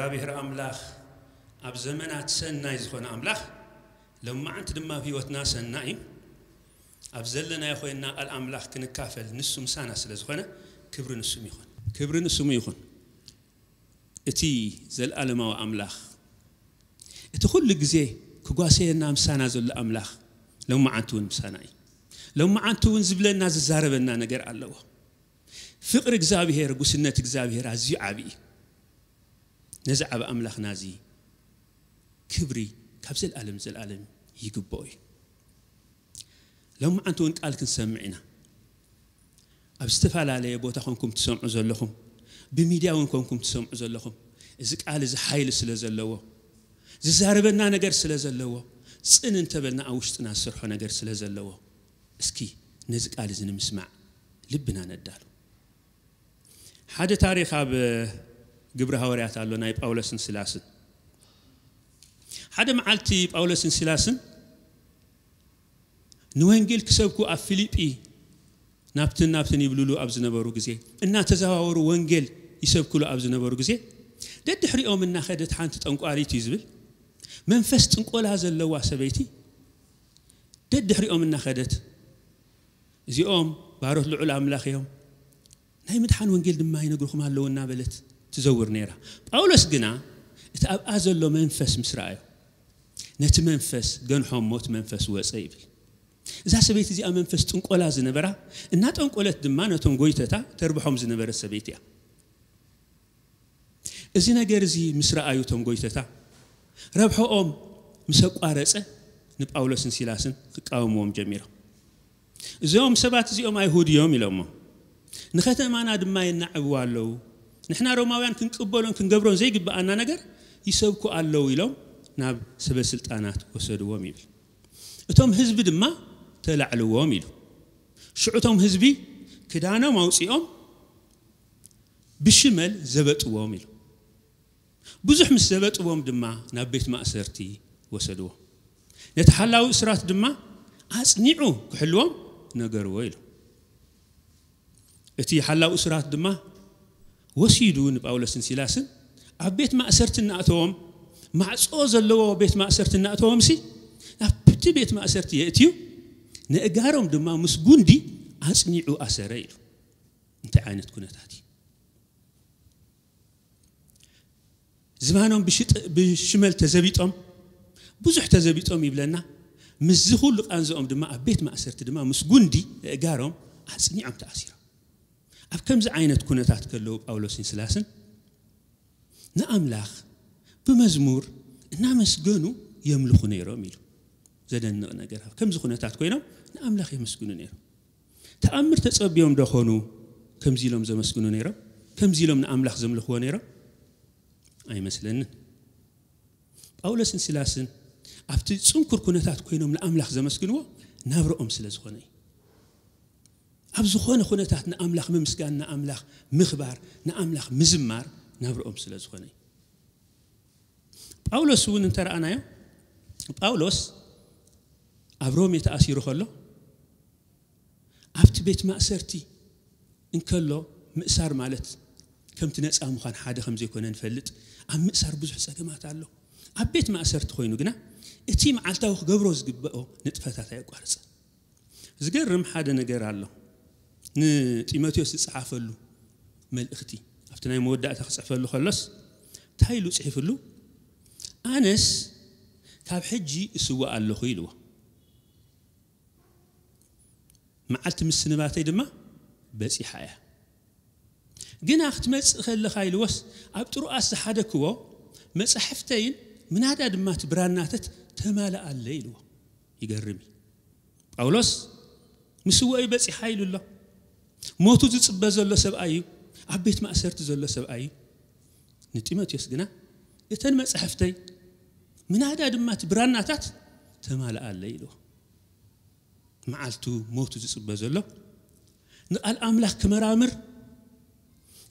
እግዚኣብሔር ኣምላኽ ኣብ ዘመናት ሰናይ ዝኾነ ኣምላኽ፣ ሎማዓንቲ ድማ ኣብ ህይወትና ሰናይ እዩ። ኣብ ዘለናዮ ኮይንና ቃል ኣምላኽ ክንካፈል ንሱ ምሳና ስለ ዝኾነ፣ ክብሪ ንስሙ ይኹን። ክብሪ ንስሙ ይኹን። እቲ ዘለኣለማዊ ኣምላኽ፣ እቲ ኩሉ ግዜ ክጓሰየና ምሳና ዘሎ ኣምላኽ፣ ሎማዓንቲ እውን ምሳና እዩ። ሎማዓንቲ እውን ዝብለና ዝዛረበና ነገር ኣለዎ። ፍቕሪ እግዚኣብሔር፣ ጉስነት እግዚኣብሔር ኣዝዩ ዓብዪ እዩ። ነዚ ዓቢ ኣምላኽና እዚ ክብሪ ካብ ዘለኣለም ዘለኣለም ይግብኦ እዩ። ሎማዓንቲ እውን ቃል ክንሰምዕ ኢና። ኣብ ዝተፈላለየ ቦታ ኮንኩም ትሰምዑ ዘለኹም፣ ብሚድያ እውን ኮንኩም ትሰምዑ ዘለኹም፣ እዚ ቃል እዚ ሓይሊ ስለ ዘለዎ፣ ዝዛረበና ነገር ስለ ዘለዎ፣ ጽን እንተበልና ኣብ ውሽጥና ዝሰርሖ ነገር ስለ ዘለዎ፣ እስኪ ነዚ ቃል እዚ ንምስማዕ ልብና ነዳሉ። ሓደ ታሪኽ ኣብ ግብሪ ሃዋርያት ኣሎ፣ ናይ ጳውሎስን ሲላስን። ሓደ መዓልቲ ጳውሎስን ሲላስን ንወንጌል ክሰብኩ ኣብ ፊልጲ ናብትን ናብትን ይብሉሉ ኣብ ዝነበሩ ግዜ፣ እናተዘዋወሩ ወንጌል ይሰብክሉ ኣብ ዝነበሩ ግዜ፣ ደድሕሪኦም እናኸደት ሓንቲ ጠንቋሊት እዩ ዝብል፣ መንፈስ ጥንቆላ ዘለዋ ሰበይቲ ደድሕሪኦም እናኸደት፣ "እዚኦም ባሮት ልዑል ኣምላኽ እዮም፣ ናይ ምድሓን ወንጌል ድማ ይነግርኹም ኣለዉ" እናበለት ትዘውር ነይራ። ጳውሎስ ግና እቲ ኣብኣ ዘሎ መንፈስ ምስ ረኣዮ፣ ነቲ መንፈስ ገንሖ እሞ እቲ መንፈስ ወጸ ይብል። እዛ ሰበይቲ እዚኣ መንፈስ ጥንቆላ ዝነበራ፣ እናጠንቆለት ድማ ነቶም ጎይተታ ተርብሖም ዝነበረት ሰበይቲ እያ። እዚ ነገር እዚ ምስ ረኣዩ እቶም ጎይተታ፣ ረብሖኦም ምስ ኣቋረጸ፣ ንጳውሎስን ሲላስን ክቃወምዎም ጀሚሮም። "እዞም ሰባት እዚኦም ኣይሁድ እዮም" ኢሎሞ፣ "ንኸተማና ድማ የናዕብዋ ኣለዉ። ንሕና ሮማውያን ክንቅበሎን ክንገብሮን ዘይግብኣና ነገር ይሰብኩ ኣለዉ" ኢሎም ናብ ሰበ ስልጣናት ወሰድዎም ይብል። "እቶም ህዝቢ ድማ ተላዕልዎም" ኢሉ። ሽዑ እቶም ህዝቢ ክዳኖም ኣውጺኦም ብሽመል ዘበጥዎም ኢሉ። ብዙሕ ምስ ዘበጥዎም ድማ ናብ ቤት ማእሰርቲ ወሰድዎ። ነቲ ሓላዊ እስራት ድማ ኣጽኒዑ ክሕልዎም ነገርዎ ኢሉ። እቲ ሓላዊ እስራት ድማ ወሲዱ ንጳውሎስን ሲላስን ኣብ ቤት ማእሰርቲ እናእተዎም፣ ማዕጾ ዘለዎ ቤት ማእሰርቲ እናእተዎም ሲ፣ ናብቲ ቤት ማእሰርቲ የእትዩ፣ ነእጋሮም ድማ ምስ ጉንዲ ኣጽኒዑ ኣሰረ ኢሉ። እንታይ ዓይነት ኩነታት እዩ? ዝባኖም ብሽጥ-፣ ብሽመል ተዘቢጦም፣ ብዙሕ ተዘቢጦም ይብለና። ምስዚ ኩሉ ቃንዝኦም ድማ ኣብ ቤት ማእሰርቲ ድማ ምስ ጉንዲ እጋሮም ኣጽኒዖም ተኣሲሮም። ኣብ ከምዚ ዓይነት ኩነታት ከለዉ ጳውሎስን ሲላስን ንኣምላኽ ብመዝሙር እናመስገኑ የምልኹ ነይሮም ኢሉ። ዘደንቕ ነገር፣ ኣብ ከምዚ ኩነታት ኮይኖም ንኣምላኽ የመስግኑ ነይሮም። ተኣምር ተጸብዮም ዶ ኾኑ ከምዚ ኢሎም ዘመስግኑ ነይሮም? ከምዚ ኢሎም ንኣምላኽ ዘምልኽዎ ነይሮም? ኣይመስለንን። ጳውሎስን ሲላስን ኣብቲ ጽንኩር ኩነታት ኮይኖም ንኣምላኽ ዘመስግንዎ ናብርኦም ስለ ዝኾነ እዩ። ኣብ ዝኾነ ኩነታት ንኣምላኽ ምምስጋን፣ ንኣምላኽ ምኽባር፣ ንኣምላኽ ምዝማር ናብርኦም ስለ ዝኾነ እዩ። ጳውሎስ እውን እንተረኣናዮ፣ ጳውሎስ ኣብ ሮሜ ተኣሲሩ ከሎ፣ ኣብቲ ቤት ማእሰርቲ እንከሎ፣ ምእሳር ማለት ከምቲ ነጻ ምዃን ሓደ ከም ዘይኮነ ንፈልጥ። ኣብ ምእሳር ብዙሕ ጸገማት ኣሎ። ኣብ ቤት ማእሰርቲ ኮይኑ ግና እቲ መዓልታዊ ክገብሮ ዝግብኦ ንጥፈታት ኣየቋርጸን። ዝገርም ሓደ ነገር ኣሎ። ንጢሞቴዎስ ዝጸሓፈሉ መልእኽቲ፣ ኣብቲ ናይ መወዳእታ ክጽሕፈሉ ከሎስ፣ እንታይ ኢሉ ጽሒፍሉ? "ኣነስ ካብ ሕጂ እስዋእ ኣለኹ" ኢልዎ። "መዓልቲ ምስንባተይ ድማ በጺሓ እያ። ግና ክትመጽእ ከለኻ" ኢልዎስ፣ "ኣብ ጥሩኣስ ዝሓደክዎ መጻሕፍተይን ምናዳ ድማ እቲ ብራናተት ተማልኣለይ" ኢልዎ። ይገርም እዩ። ጳውሎስ ምስወኡ በጺሓ ኢሉ ኣሎ። ሞቱ ዝጽበ ዘሎ ሰብኣይ እዩ። ኣብ ቤት ማእሰርቲ ዘሎ ሰብኣይ እዩ። ንጢሞቴዎስ ግና "እተን መጻሕፍተይ ምናዳ ድማ እቲ ብራናታት ተማልኣለይ" ኢልዎ። መዓልቱ ሞቱ ዝጽበ ዘሎ፣ ንቓል ኣምላኽ ክመራምር፣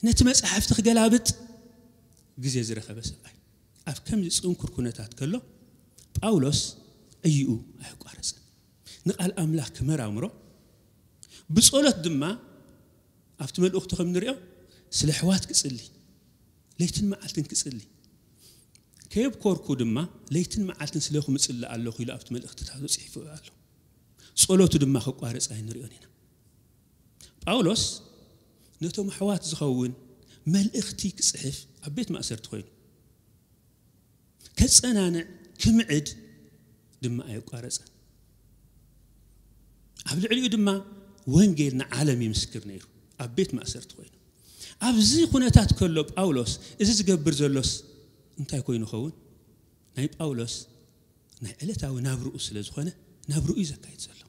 ነቲ መጻሕፍቲ ክገላብጥ ግዜ ዝረኸበ ሰብኣይ። ኣብ ከምዚ ጽንኩር ኩነታት ከሎ፣ ጳውሎስ ዕይኡ ኣየቋረጸን። ንቓል ኣምላኽ ክመራምሮ፣ ብጸሎት ድማ ኣብቲ መልእኽቱ ከም ንሪኦ ስለ ኣሕዋት ክጽሊ፣ ለይትን መዓልትን ክጽሊ፣ ከየብኮርኩ ድማ ለይትን መዓልትን ስለኹም እጽሊ ኣለኹ ኢሉ ኣብቲ መልእኽትታቱ ጽሒፉ ኣሎ። ጸሎቱ ድማ ከቋርጽ ኣይንሪኦን ኢና። ጳውሎስ ነቶም ኣሕዋት ዝኸውን መልእኽቲ ክጽሕፍ ኣብ ቤት ማእሰርቲ ኮይኑ፣ ከጸናንዕ፣ ክምዕድ ድማ ኣየቋረጸን። ኣብ ልዕሊኡ ድማ ወንጌል ንዓለም ይምስክር ነይሩ፣ ኣብ ቤት ማእሰርቲ ኮይኑ። ኣብዚ ኩነታት ከሎ ጳውሎስ እዚ ዝገብር ዘሎስ እንታይ ኮይኑ ይኸውን? ናይ ጳውሎስ ናይ ዕለታዊ ናብርኡ ስለ ዝኾነ፣ ናብርኡ እዩ ዘካይድ ዘሎ።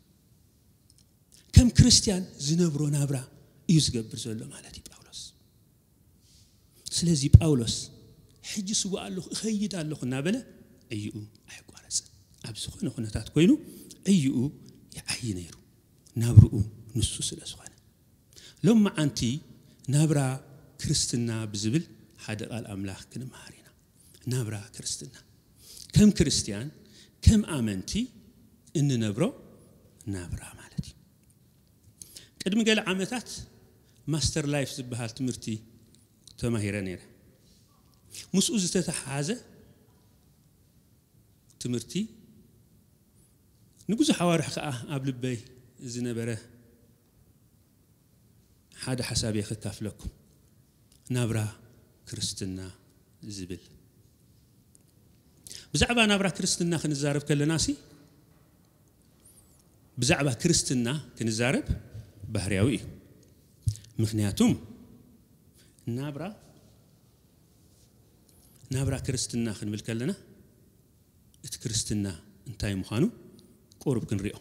ከም ክርስትያን ዝነብሮ ናብራ እዩ ዝገብር ዘሎ ማለት እዩ ጳውሎስ። ስለዚ ጳውሎስ ሕጂ ስዋ ኣለኹ፣ እኸይድ ኣለኹ እናበለ ዕይኡ ኣየቋረጽን። ኣብ ዝኾነ ኩነታት ኮይኑ ዕይኡ ይዓዪ ነይሩ፣ ናብርኡ ንሱ ስለ ዝኾነ። ሎም መዓንቲ ናብራ ክርስትና ብዝብል ሓደ ቃል ኣምላኽ ክንመሃር ኢና። ናብራ ክርስትና ከም ክርስትያን፣ ከም ኣመንቲ እንነብሮ ናብራ ማለት እዩ። ቅድሚ ገለ ዓመታት ማስተር ላይፍ ዝበሃል ትምህርቲ ተማሂረ ነይረ። ምስኡ ዝተተሓሓዘ ትምህርቲ ንብዙሕ ኣዋርሕ ከኣ ኣብ ልበይ ዝነበረ ሓደ ሓሳብ እየ ከካፍለኩም። ናብራ ክርስትና ዝብል። ብዛዕባ ናብራ ክርስትና ክንዛረብ ከለና ሲ፣ ብዛዕባ ክርስትና ክንዛረብ ባህርያዊ እዩ። ምኽንያቱም ናብራ፣ ናብራ ክርስትና ክንብል ከለና እቲ ክርስትና እንታይ ምዃኑ ቁሩብ ክንሪኦ።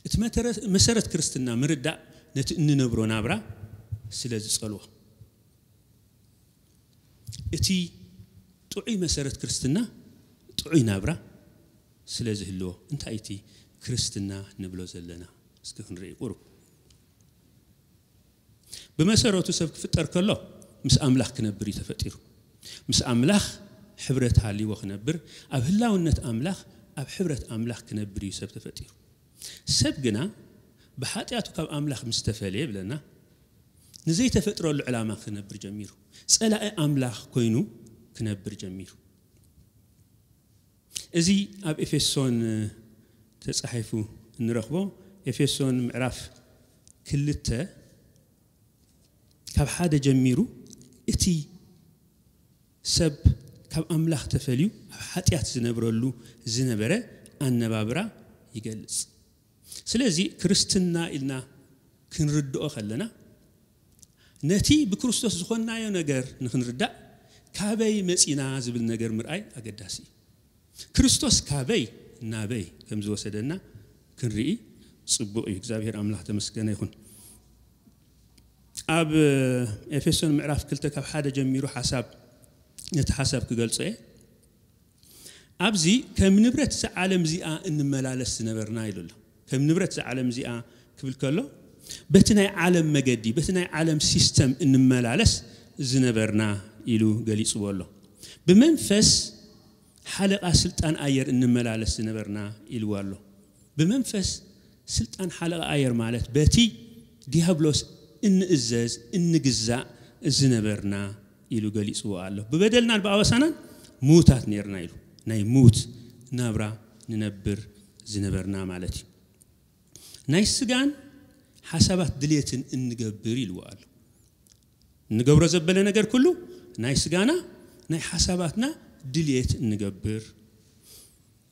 እቲ መተረ-፣ መሰረት ክርስትና ምርዳእ ነቲ እንነብሮ ናብራ ስለ ዝጸልዎ፣ እቲ ጥዑይ መሰረት ክርስትና ጥዑይ ናብራ ስለ ዝህልዎ፣ እንታይ እቲ ክርስትና ንብሎ ዘለና? እስኪ ክንርኢ ቁሩብ። ብመሰረቱ ሰብ ክፍጠር ከሎ ምስ ኣምላኽ ክነብር እዩ ተፈጢሩ። ምስ ኣምላኽ ሕብረት ሃልይዎ ክነብር፣ ኣብ ህላውነት ኣምላኽ፣ ኣብ ሕብረት ኣምላኽ ክነብር እዩ ሰብ ተፈጢሩ። ሰብ ግና ብሓጢኣቱ ካብ ኣምላኽ ምስ ተፈልየ ይብለና፣ ንዘይተፈጥረሉ ዕላማ ክነብር ጀሚሩ። ጸላኢ ኣምላኽ ኮይኑ ክነብር ጀሚሩ። እዚ ኣብ ኤፌሶን ተጻሒፉ እንረኽቦ፣ ኤፌሶን ምዕራፍ ክልተ ካብ ሓደ ጀሚሩ እቲ ሰብ ካብ ኣምላኽ ተፈልዩ ኣብ ሓጢኣት ዝነብረሉ ዝነበረ ኣነባብራ ይገልጽ። ስለዚ ክርስትና ኢልና ክንርድኦ ከለና፣ ነቲ ብክርስቶስ ዝኾንናዮ ነገር ንኽንርዳእ፣ ካበይ መጺና ዝብል ነገር ምርኣይ ኣገዳሲ እዩ። ክርስቶስ ካበይ ናበይ ከም ዝወሰደና ክንርኢ ጽቡቕ እዩ። እግዚኣብሔር ኣምላኽ ተመስገነ ይኹን። ኣብ ኤፌሶን ምዕራፍ ክልተ ካብ ሓደ ጀሚሩ ሓሳብ፣ ነቲ ሓሳብ ክገልጾ እየ። ኣብዚ ከም ንብረት እዛ ዓለም እዚኣ እንመላለስ ዝነበርና ኢሉ ኣሎ። ከም ንብረት እዛ ዓለም እዚኣ ክብል ከሎ፣ በቲ ናይ ዓለም መገዲ፣ በቲ ናይ ዓለም ሲስተም እንመላለስ ዝነበርና ኢሉ ገሊጽዎ ኣሎ። ብመንፈስ ሓለቓ ስልጣን ኣየር እንመላለስ ዝነበርና ኢልዎ ኣሎ። ብመንፈስ ስልጣን ሓለቓ ኣየር ማለት በቲ ዲያብሎስ እንእዘዝ፣ እንግዛእ ዝነበርና ኢሉ ገሊጽዎ ኣሎ። ብበደልናን ብኣበሳናን ምዉታት ነርና ኢሉ። ናይ ምዉት ናብራ ንነብር ዝነበርና ማለት እዩ። ናይ ስጋን ሓሳባት ድልየትን እንገብር ኢልዎ ኣሎ። እንገብሮ ዘበለ ነገር ኩሉ ናይ ስጋና ናይ ሓሳባትና ድልየት እንገብር፣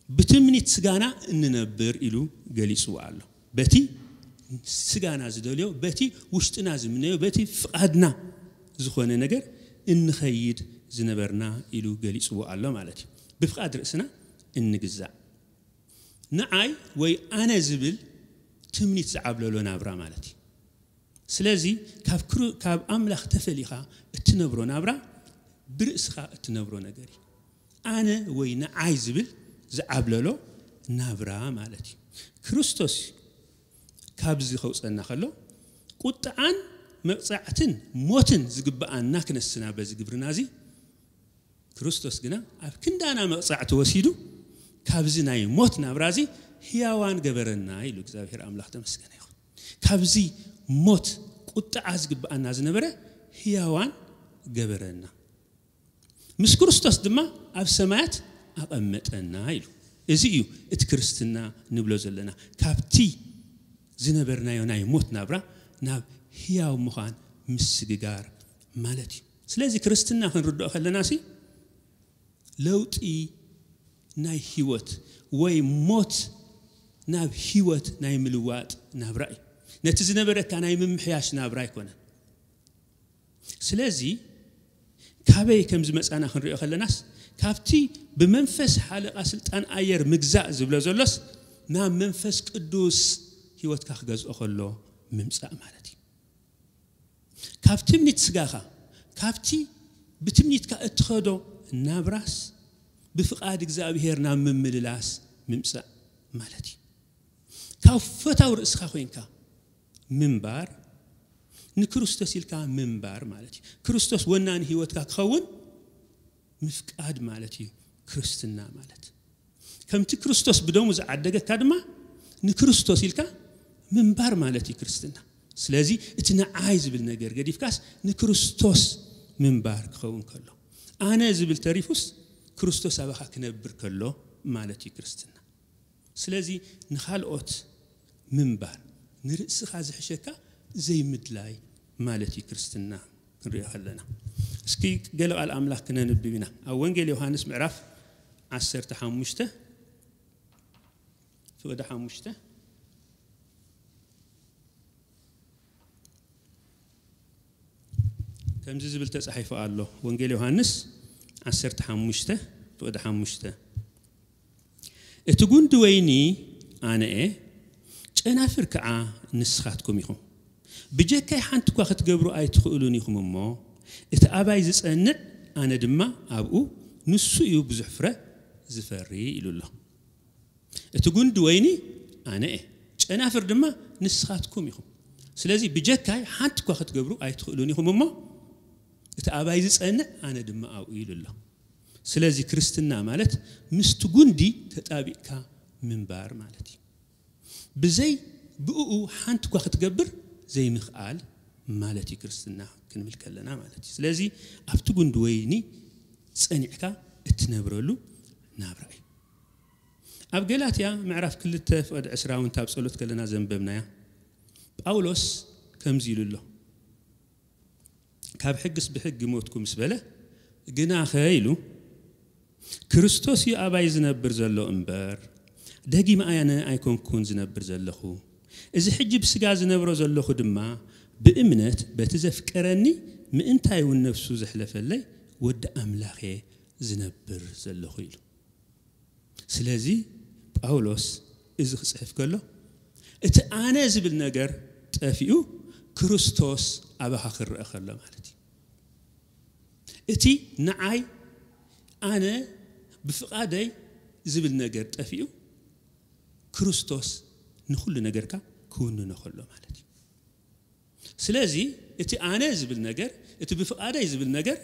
ብትምኒት ስጋና እንነብር ኢሉ ገሊጽዎ ኣሎ። በቲ ስጋና ዝደልዮ፣ በቲ ውሽጥና ዝምነዮ፣ በቲ ፍቓድና ዝኾነ ነገር እንኸይድ ዝነበርና ኢሉ ገሊጽዎ ኣሎ ማለት እዩ። ብፍቓድ ርእስና እንግዛእ። ንዓይ ወይ ኣነ ዝብል ትምኒት ዝዓብለሎ ናብራ ማለት እዩ። ስለዚ ካብ ክሩ-፣ ካብ ኣምላኽ ተፈሊኻ እትነብሮ ናብራ ብርእስኻ እትነብሮ ነገር እዩ። ኣነ ወይ ንዓይ ዝብል ዝዓብለሎ ናብራ ማለት እዩ። ክርስቶስ ካብዚ ከውፀና ከሎ ቁጥዓን መቕጻዕትን ሞትን ዝግብኣና ክነስና በዚ ግብርና እዚ፣ ክርስቶስ ግና ኣብ ክንዳና መቕጻዕቲ ወሲዱ ካብዚ ናይ ሞት ናብራ እዚ ህያዋን ገበረና ኢሉ እግዚኣብሔር ኣምላኽ ተመስገነ ይኹን። ካብዚ ሞት ቁጥዓ ዝግብኣና ዝነበረ ህያዋን ገበረና። ምስ ክርስቶስ ድማ ኣብ ሰማያት ኣቐመጠና ኢሉ። እዚ እዩ እቲ ክርስትና ንብሎ ዘለና። ካብቲ ዝነበርናዮ ናይ ሞት ናብራ ናብ ህያው ምዃን ምስግጋር ማለት እዩ። ስለዚ ክርስትና ክንርድኦ ከለና ሲ ለውጢ ናይ ህይወት ወይ ሞት ናብ ህይወት ናይ ምልዋጥ ናብራ እዩ። ነቲ ዝነበረካ ናይ ምምሕያሽ ናብራ ኣይኮነን። ስለዚ ካበይ ከም ዝመጻና ክንሪኦ ከለናስ ካብቲ ብመንፈስ ሓለቓ ስልጣን ኣየር ምግዛእ ዝብሎ ዘሎስ ናብ መንፈስ ቅዱስ ህይወትካ ክገዝኦ ከሎ ምምጻእ ማለት እዩ። ካብ ትምኒት ስጋኻ ካብቲ ብትምኒትካ እትኸዶ ናብራስ ብፍቓድ እግዚኣብሔር ናብ ምምልላስ ምምጻእ ማለት እዩ። ካብ ፈታው ርእስኻ ኮይንካ ምንባር ንክርስቶስ ኢልካ ምንባር ማለት እዩ። ክርስቶስ ወናኒ ህይወትካ ክኸውን ምፍቃድ ማለት እዩ ክርስትና ማለት። ከምቲ ክርስቶስ ብደሙ ዝዓደገካ ድማ ንክርስቶስ ኢልካ ምንባር ማለት እዩ ክርስትና። ስለዚ እቲ ንዓይ ዝብል ነገር ገዲፍካስ ንክርስቶስ ምንባር ክኸውን ከሎ፣ ኣነ ዝብል ተሪፉስ ክርስቶስ ኣባኻ ክነብር ከሎ ማለት እዩ ክርስትና። ስለዚ ንኻልኦት ምንባር ንርእስኻ ዝሕሸካ ዘይምድላይ ማለት እዩ ክርስትና ክንሪኦ ከለና። እስኪ ገለ ቃል ኣምላኽ ክነንብብ ኢና። ኣብ ወንጌል ዮሃንስ ምዕራፍ ዓሰርተ ሓሙሽተ ፍቕዲ ሓሙሽተ ከምዚ ዝብል ተጻሒፉ ኣሎ። ወንጌል ዮሃንስ ዓሰርተ ሓሙሽተ ፍቕዲ ሓሙሽተ፣ እቲ ጉንዲ ወይኒ ኣነ እየ፣ ጨናፍር ከዓ ንስኻትኩም ኢኹም። ብጀካይ ሓንቲ እኳ ክትገብሩ ኣይትኽእሉን ኢኹም እሞ፣ እቲ ኣባይ ዝጸንዕ ኣነ ድማ ኣብኡ፣ ንሱ እዩ ብዙሕ ፍረ ዝፈሪ ኢሉ ኣሎ። እቲ ጉንዲ ወይኒ ኣነ እየ፣ ጨናፍር ድማ ንስኻትኩም ኢኹም። ስለዚ ብጀካይ ሓንቲ እኳ ክትገብሩ ኣይትኽእሉን ኢኹም እሞ፣ እቲ ኣባይ ዝጸንዕ ኣነ ድማ ኣብኡ ኢሉ ኣሎ። ስለዚ ክርስትና ማለት ምስቲ ጉንዲ ተጣቢቕካ ምንባር ማለት እዩ። ብዘይ ብእኡ ሓንቲ እኳ ክትገብር ዘይምኽኣል ማለት እዩ ክርስትና ክንብል ከለና ማለት እዩ። ስለዚ ኣብቲ ጉንዲ ወይኒ ጸኒዕካ እትነብረሉ ናብራ እዩ። ኣብ ገላትያ ምዕራፍ ክልተ ፍቕዲ ዕስራ እውን ታብ ጸሎት ከለና ዘንበብናያ ጳውሎስ ከምዚ ኢሉ ኣሎ። ካብ ሕግስ ብሕጊ ሞትኩ ምስ በለ፣ ግናኸ ኢሉ፣ ክርስቶስ እዩ ኣባይ ዝነብር ዘሎ እምበር፣ ደጊም ኣነ ኣይኮንኩን ዝነብር ዘለኹ። እዚ ሕጂ ብስጋ ዝነብሮ ዘለኹ ድማ ብእምነት በቲ ዘፍቀረኒ ምእንታይ እውን ነፍሱ ዘሕለፈለይ ወዲ ኣምላኽ እየ ዝነብር ዘለኹ ኢሉ። ስለዚ ጳውሎስ እዚ ክጽሕፍ ከሎ እቲ ኣነ ዝብል ነገር ጠፊኡ ክርስቶስ ኣባኻ ክረአ ከሎ ማለት እዩ። እቲ ንዓይ ኣነ ብፍቓደይ ዝብል ነገር ጠፊኡ ክርስቶስ ንኹሉ ነገርካ ክውንኖ ከሎ ማለት እዩ። ስለዚ እቲ ኣነ ዝብል ነገር እቲ ብፍቓደይ ዝብል ነገር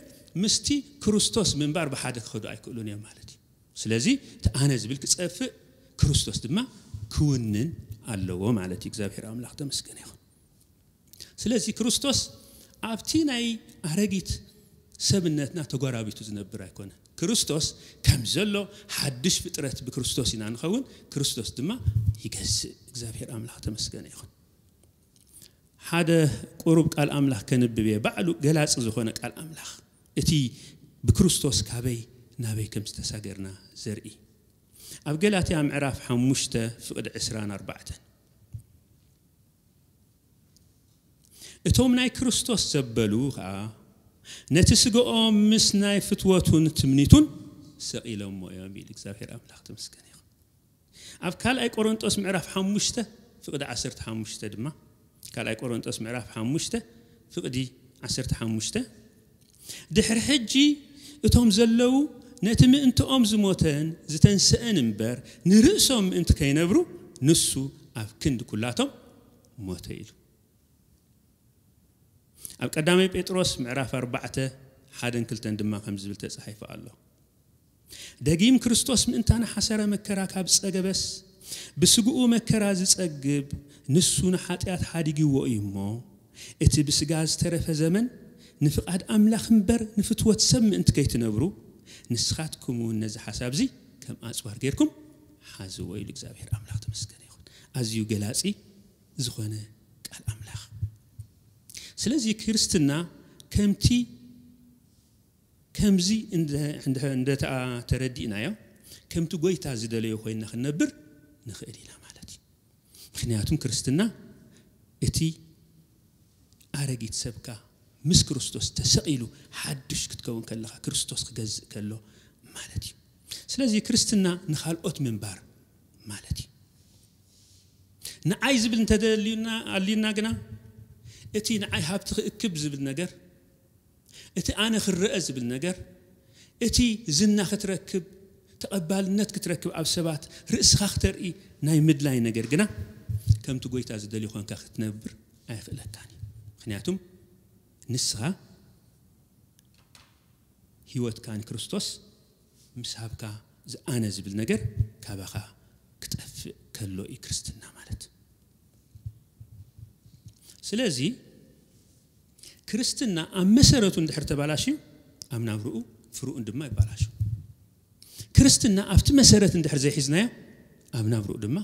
ምስቲ ክርስቶስ ምንባር ብሓደ ክኸዱ ኣይክእሉን እዮም ማለት እዩ። ስለዚ እቲ ኣነ ዝብል ክጸፍእ ክርስቶስ ድማ ክውንን ኣለዎ ማለት እዩ። እግዚኣብሔር ኣምላኽ ተመስገነ ይኹን። ስለዚ ክርስቶስ ኣብቲ ናይ ኣረጊት ሰብነትና ተጓራቢቱ ዝነብር ኣይኮነ። ክርስቶስ ከም ዘሎ ሓድሽ ፍጥረት ብክርስቶስ ኢና ንኸውን። ክርስቶስ ድማ ይገዝእ። እግዚኣብሔር ኣምላኽ ተመስገነ ይኹን። ሓደ ቁሩብ ቃል ኣምላኽ ከንብብ እየ። ባዕሉ ገላጺ ዝኾነ ቃል ኣምላኽ፣ እቲ ብክርስቶስ ካበይ ናበይ ከም ዝተሳገርና ዘርኢ። ኣብ ገላትያ ምዕራፍ ሓሙሽተ ፍቕዲ ዕስራን ኣርባዕተን፣ እቶም ናይ ክርስቶስ ዘበሉ ኸኣ ነቲ ስጋኦም ምስ ናይ ፍትወቱን ትምኒቱን ሰቒሎሞ እዮም ኢሉ። እግዚኣብሔር ኣምላኽ ተመስገን ይኹን። ኣብ ካልኣይ ቆሮንጦስ ምዕራፍ ሓሙሽተ ፍቕዲ ዓሰርተ ሓሙሽተ ድማ፣ ካልኣይ ቆሮንጦስ ምዕራፍ ሓሙሽተ ፍቕዲ ዓሰርተ ሓሙሽተ፣ ድሕሪ ሕጂ እቶም ዘለዉ ነቲ ምእንትኦም ዝሞተን ዝተንስአን እምበር ንርእሶም ምእንቲ ከይነብሩ ንሱ ኣብ ክንዲ ኩላቶም ሞተ ኢሉ። ኣብ ቀዳማይ ጴጥሮስ ምዕራፍ ኣርባዕተ ሓደን ክልተን ድማ ከም ዝብል ተጻሒፉ ኣሎ። ደጊም ክርስቶስ ምእንታና ሓሰረ መከራ ካብ ጸገበስ፣ ብስግኡ መከራ ዝጸግብ ንሱ ንሓጢኣት ሓዲግዎ እዩ እሞ፣ እቲ ብስጋ ዝተረፈ ዘመን ንፍቓድ ኣምላኽ እምበር ንፍትወት ሰብ ምእንቲ ከይትነብሩ፣ ንስኻትኩም እውን ነዚ ሓሳብ እዚ ከም ኣጽዋር ጌርኩም ሓዝዎ ኢሉ እግዚኣብሔር ኣምላኽ ተመስገነ ይኹን። ኣዝዩ ገላጺ ዝኾነ ቃል ኣምላኽ። ስለዚ ክርስትና ከምቲ ከምዚ እንደ- እንደ- እንደተኣ ተረዲእናዮ፣ ከምቲ ጎይታ ዝደለዮ ኮይንና ክንነብር ንኽእል ኢና ማለት እዩ። ምክንያቱም ክርስትና እቲ ኣረጊት ሰብካ ምስ ክርስቶስ ተሰቒሉ ሓድሽ ክትከውን ከለኻ፣ ክርስቶስ ክገዝእ ከሎ ማለት እዩ። ስለዚ ክርስትና ንኻልኦት ምንባር ማለት እዩ። ንዓይ ዝብል እንተደልዩና ኣልዩና ግና፣ እቲ ንዓይ ሃብቲ ክእክብ ዝብል ነገር፣ እቲ ኣነ ክረአ ዝብል ነገር፣ እቲ ዝና ክትረክብ፣ ተቐባልነት ክትረክብ፣ ኣብ ሰባት ርእስኻ ክተርኢ ናይ ምድላይ ነገር ግና፣ ከምቲ ጎይታ ዝደልዩ ኮንካ ክትነብር ኣይኽእለካን እዩ። ምክንያቱም ንስኻ ህይወትካ ንክርስቶስ ምስ ሃብካ፣ ዝኣነ ዝብል ነገር ካባኻ ክጠፍእ ከሎ እዩ ክርስትና ማለት። ስለዚ ክርስትና ኣብ መሰረቱ እንድሕር ተባላሽዩ፣ ኣብ ናብርኡ ፍሩኡን ድማ ይባላሹ። ክርስትና ኣብቲ መሰረት እንድሕር ዘይሒዝናዮ፣ ኣብ ናብርኡ ድማ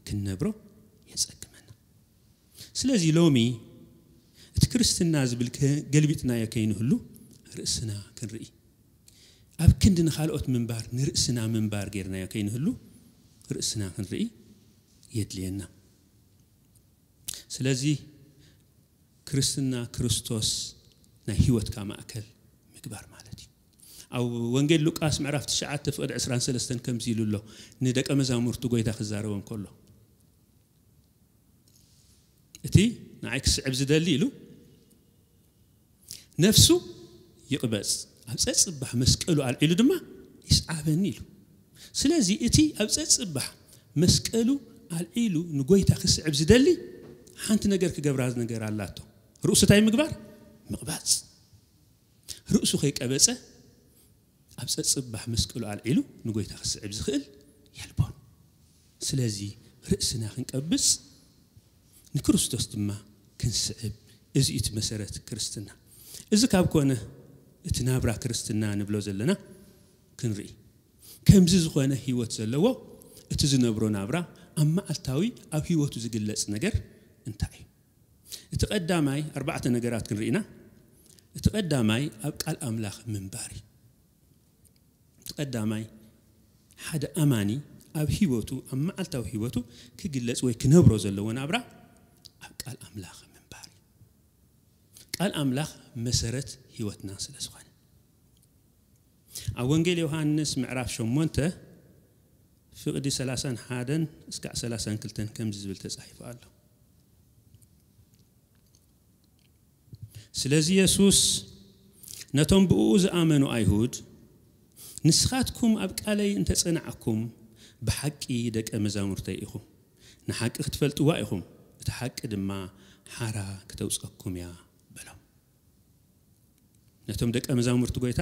ክንነብሮ የጸግመና። ስለዚ ሎሚ እቲ ክርስትና ዝብል ከ- ገልቢጥናዮ ከይንህሉ፣ ርእስና ክንርኢ፣ ኣብ ክንዲ ንኻልኦት ምንባር፣ ንርእስና ምንባር ጌርናዮ ከይንህሉ፣ ርእስና ክንርኢ የድልየና። ስለዚ ክርስትና ክርስቶስ ናይ ህይወትካ ማእከል ምግባር ማለት እዩ። ኣብ ወንጌል ሉቃስ ምዕራፍ ትሽዓተ ፍቕዲ ዕስራን ሰለስተን ከምዚ ኢሉ ኣሎ፣ ንደቀ መዛሙርቱ ጎይታ ክዛረቦም ከሎ፣ እቲ ንዓይ ክስዕብ ዝደሊ ኢሉ፣ ነፍሱ ይቕበጽ፣ ኣብ ጸጽባሕ መስቀሉ ኣልዒሉ ድማ ይስዓበኒ ኢሉ። ስለዚ እቲ ኣብ ጸጽባሕ መስቀሉ ኣልዒሉ ንጎይታ ክስዕብ ዝደሊ፣ ሓንቲ ነገር ክገብራ ነገር ኣላቶ። ርእሱ እንታይ ምግባር? ምቕባጽ። ርእሱ ከይቀበጸ፣ ኣብ ጸጽባሕ መስቀሉ ኣልዒሉ ንጎይታ ክስዕብ ዝኽእል የልቦን። ስለዚ ርእስና ክንቀብጽ፣ ንክርስቶስ ድማ ክንስዕብ፣ እዚ እዩ እቲ መሰረት ክርስትና። እዚ ካብ ኮነ፣ እቲ ናብራ ክርስትና ንብሎ ዘለና ክንርኢ፣ ከምዚ ዝኾነ ህይወት ዘለዎ፣ እቲ ዝነብሮ ናብራ ኣብ መዓልታዊ ኣብ ህይወቱ ዝግለጽ ነገር እንታይ እዩ? እቲ ቀዳማይ፣ ኣርባዕተ ነገራት ክንርኢ ኢና። እቲ ቀዳማይ ኣብ ቃል ኣምላኽ ምንባር እዩ። እቲ ቀዳማይ፣ ሓደ ኣማኒ ኣብ ህይወቱ፣ ኣብ መዓልታዊ ህይወቱ ክግለጽ ወይ ክነብሮ ዘለዎ ናብራ ኣብ ቃል ኣምላኽ ምንባር እዩ። ቃል ኣምላኽ መሰረት ህይወትና ስለ ዝኾነ፣ ኣብ ወንጌል ዮሃንስ ምዕራፍ ሸሞንተ ፍቕዲ ሰላሳን ሓደን እስካዕ ሰላሳን ክልተን ከምዚ ዝብል ተጻሒፉ ኣሎ። ስለዚ የሱስ ነቶም ብእኡ ዝኣመኑ ኣይሁድ፣ "ንስኻትኩም ኣብ ቃለይ እንተጸናዕኩም፣ ብሓቂ ደቀ መዛሙርተይ ኢኹም። ንሓቂ ክትፈልጥዋ ኢኹም፣ እቲ ሓቂ ድማ ሓራ ክተውጸኩም እያ" በሎም። ነቶም ደቀ መዛሙርቲ ጎይታ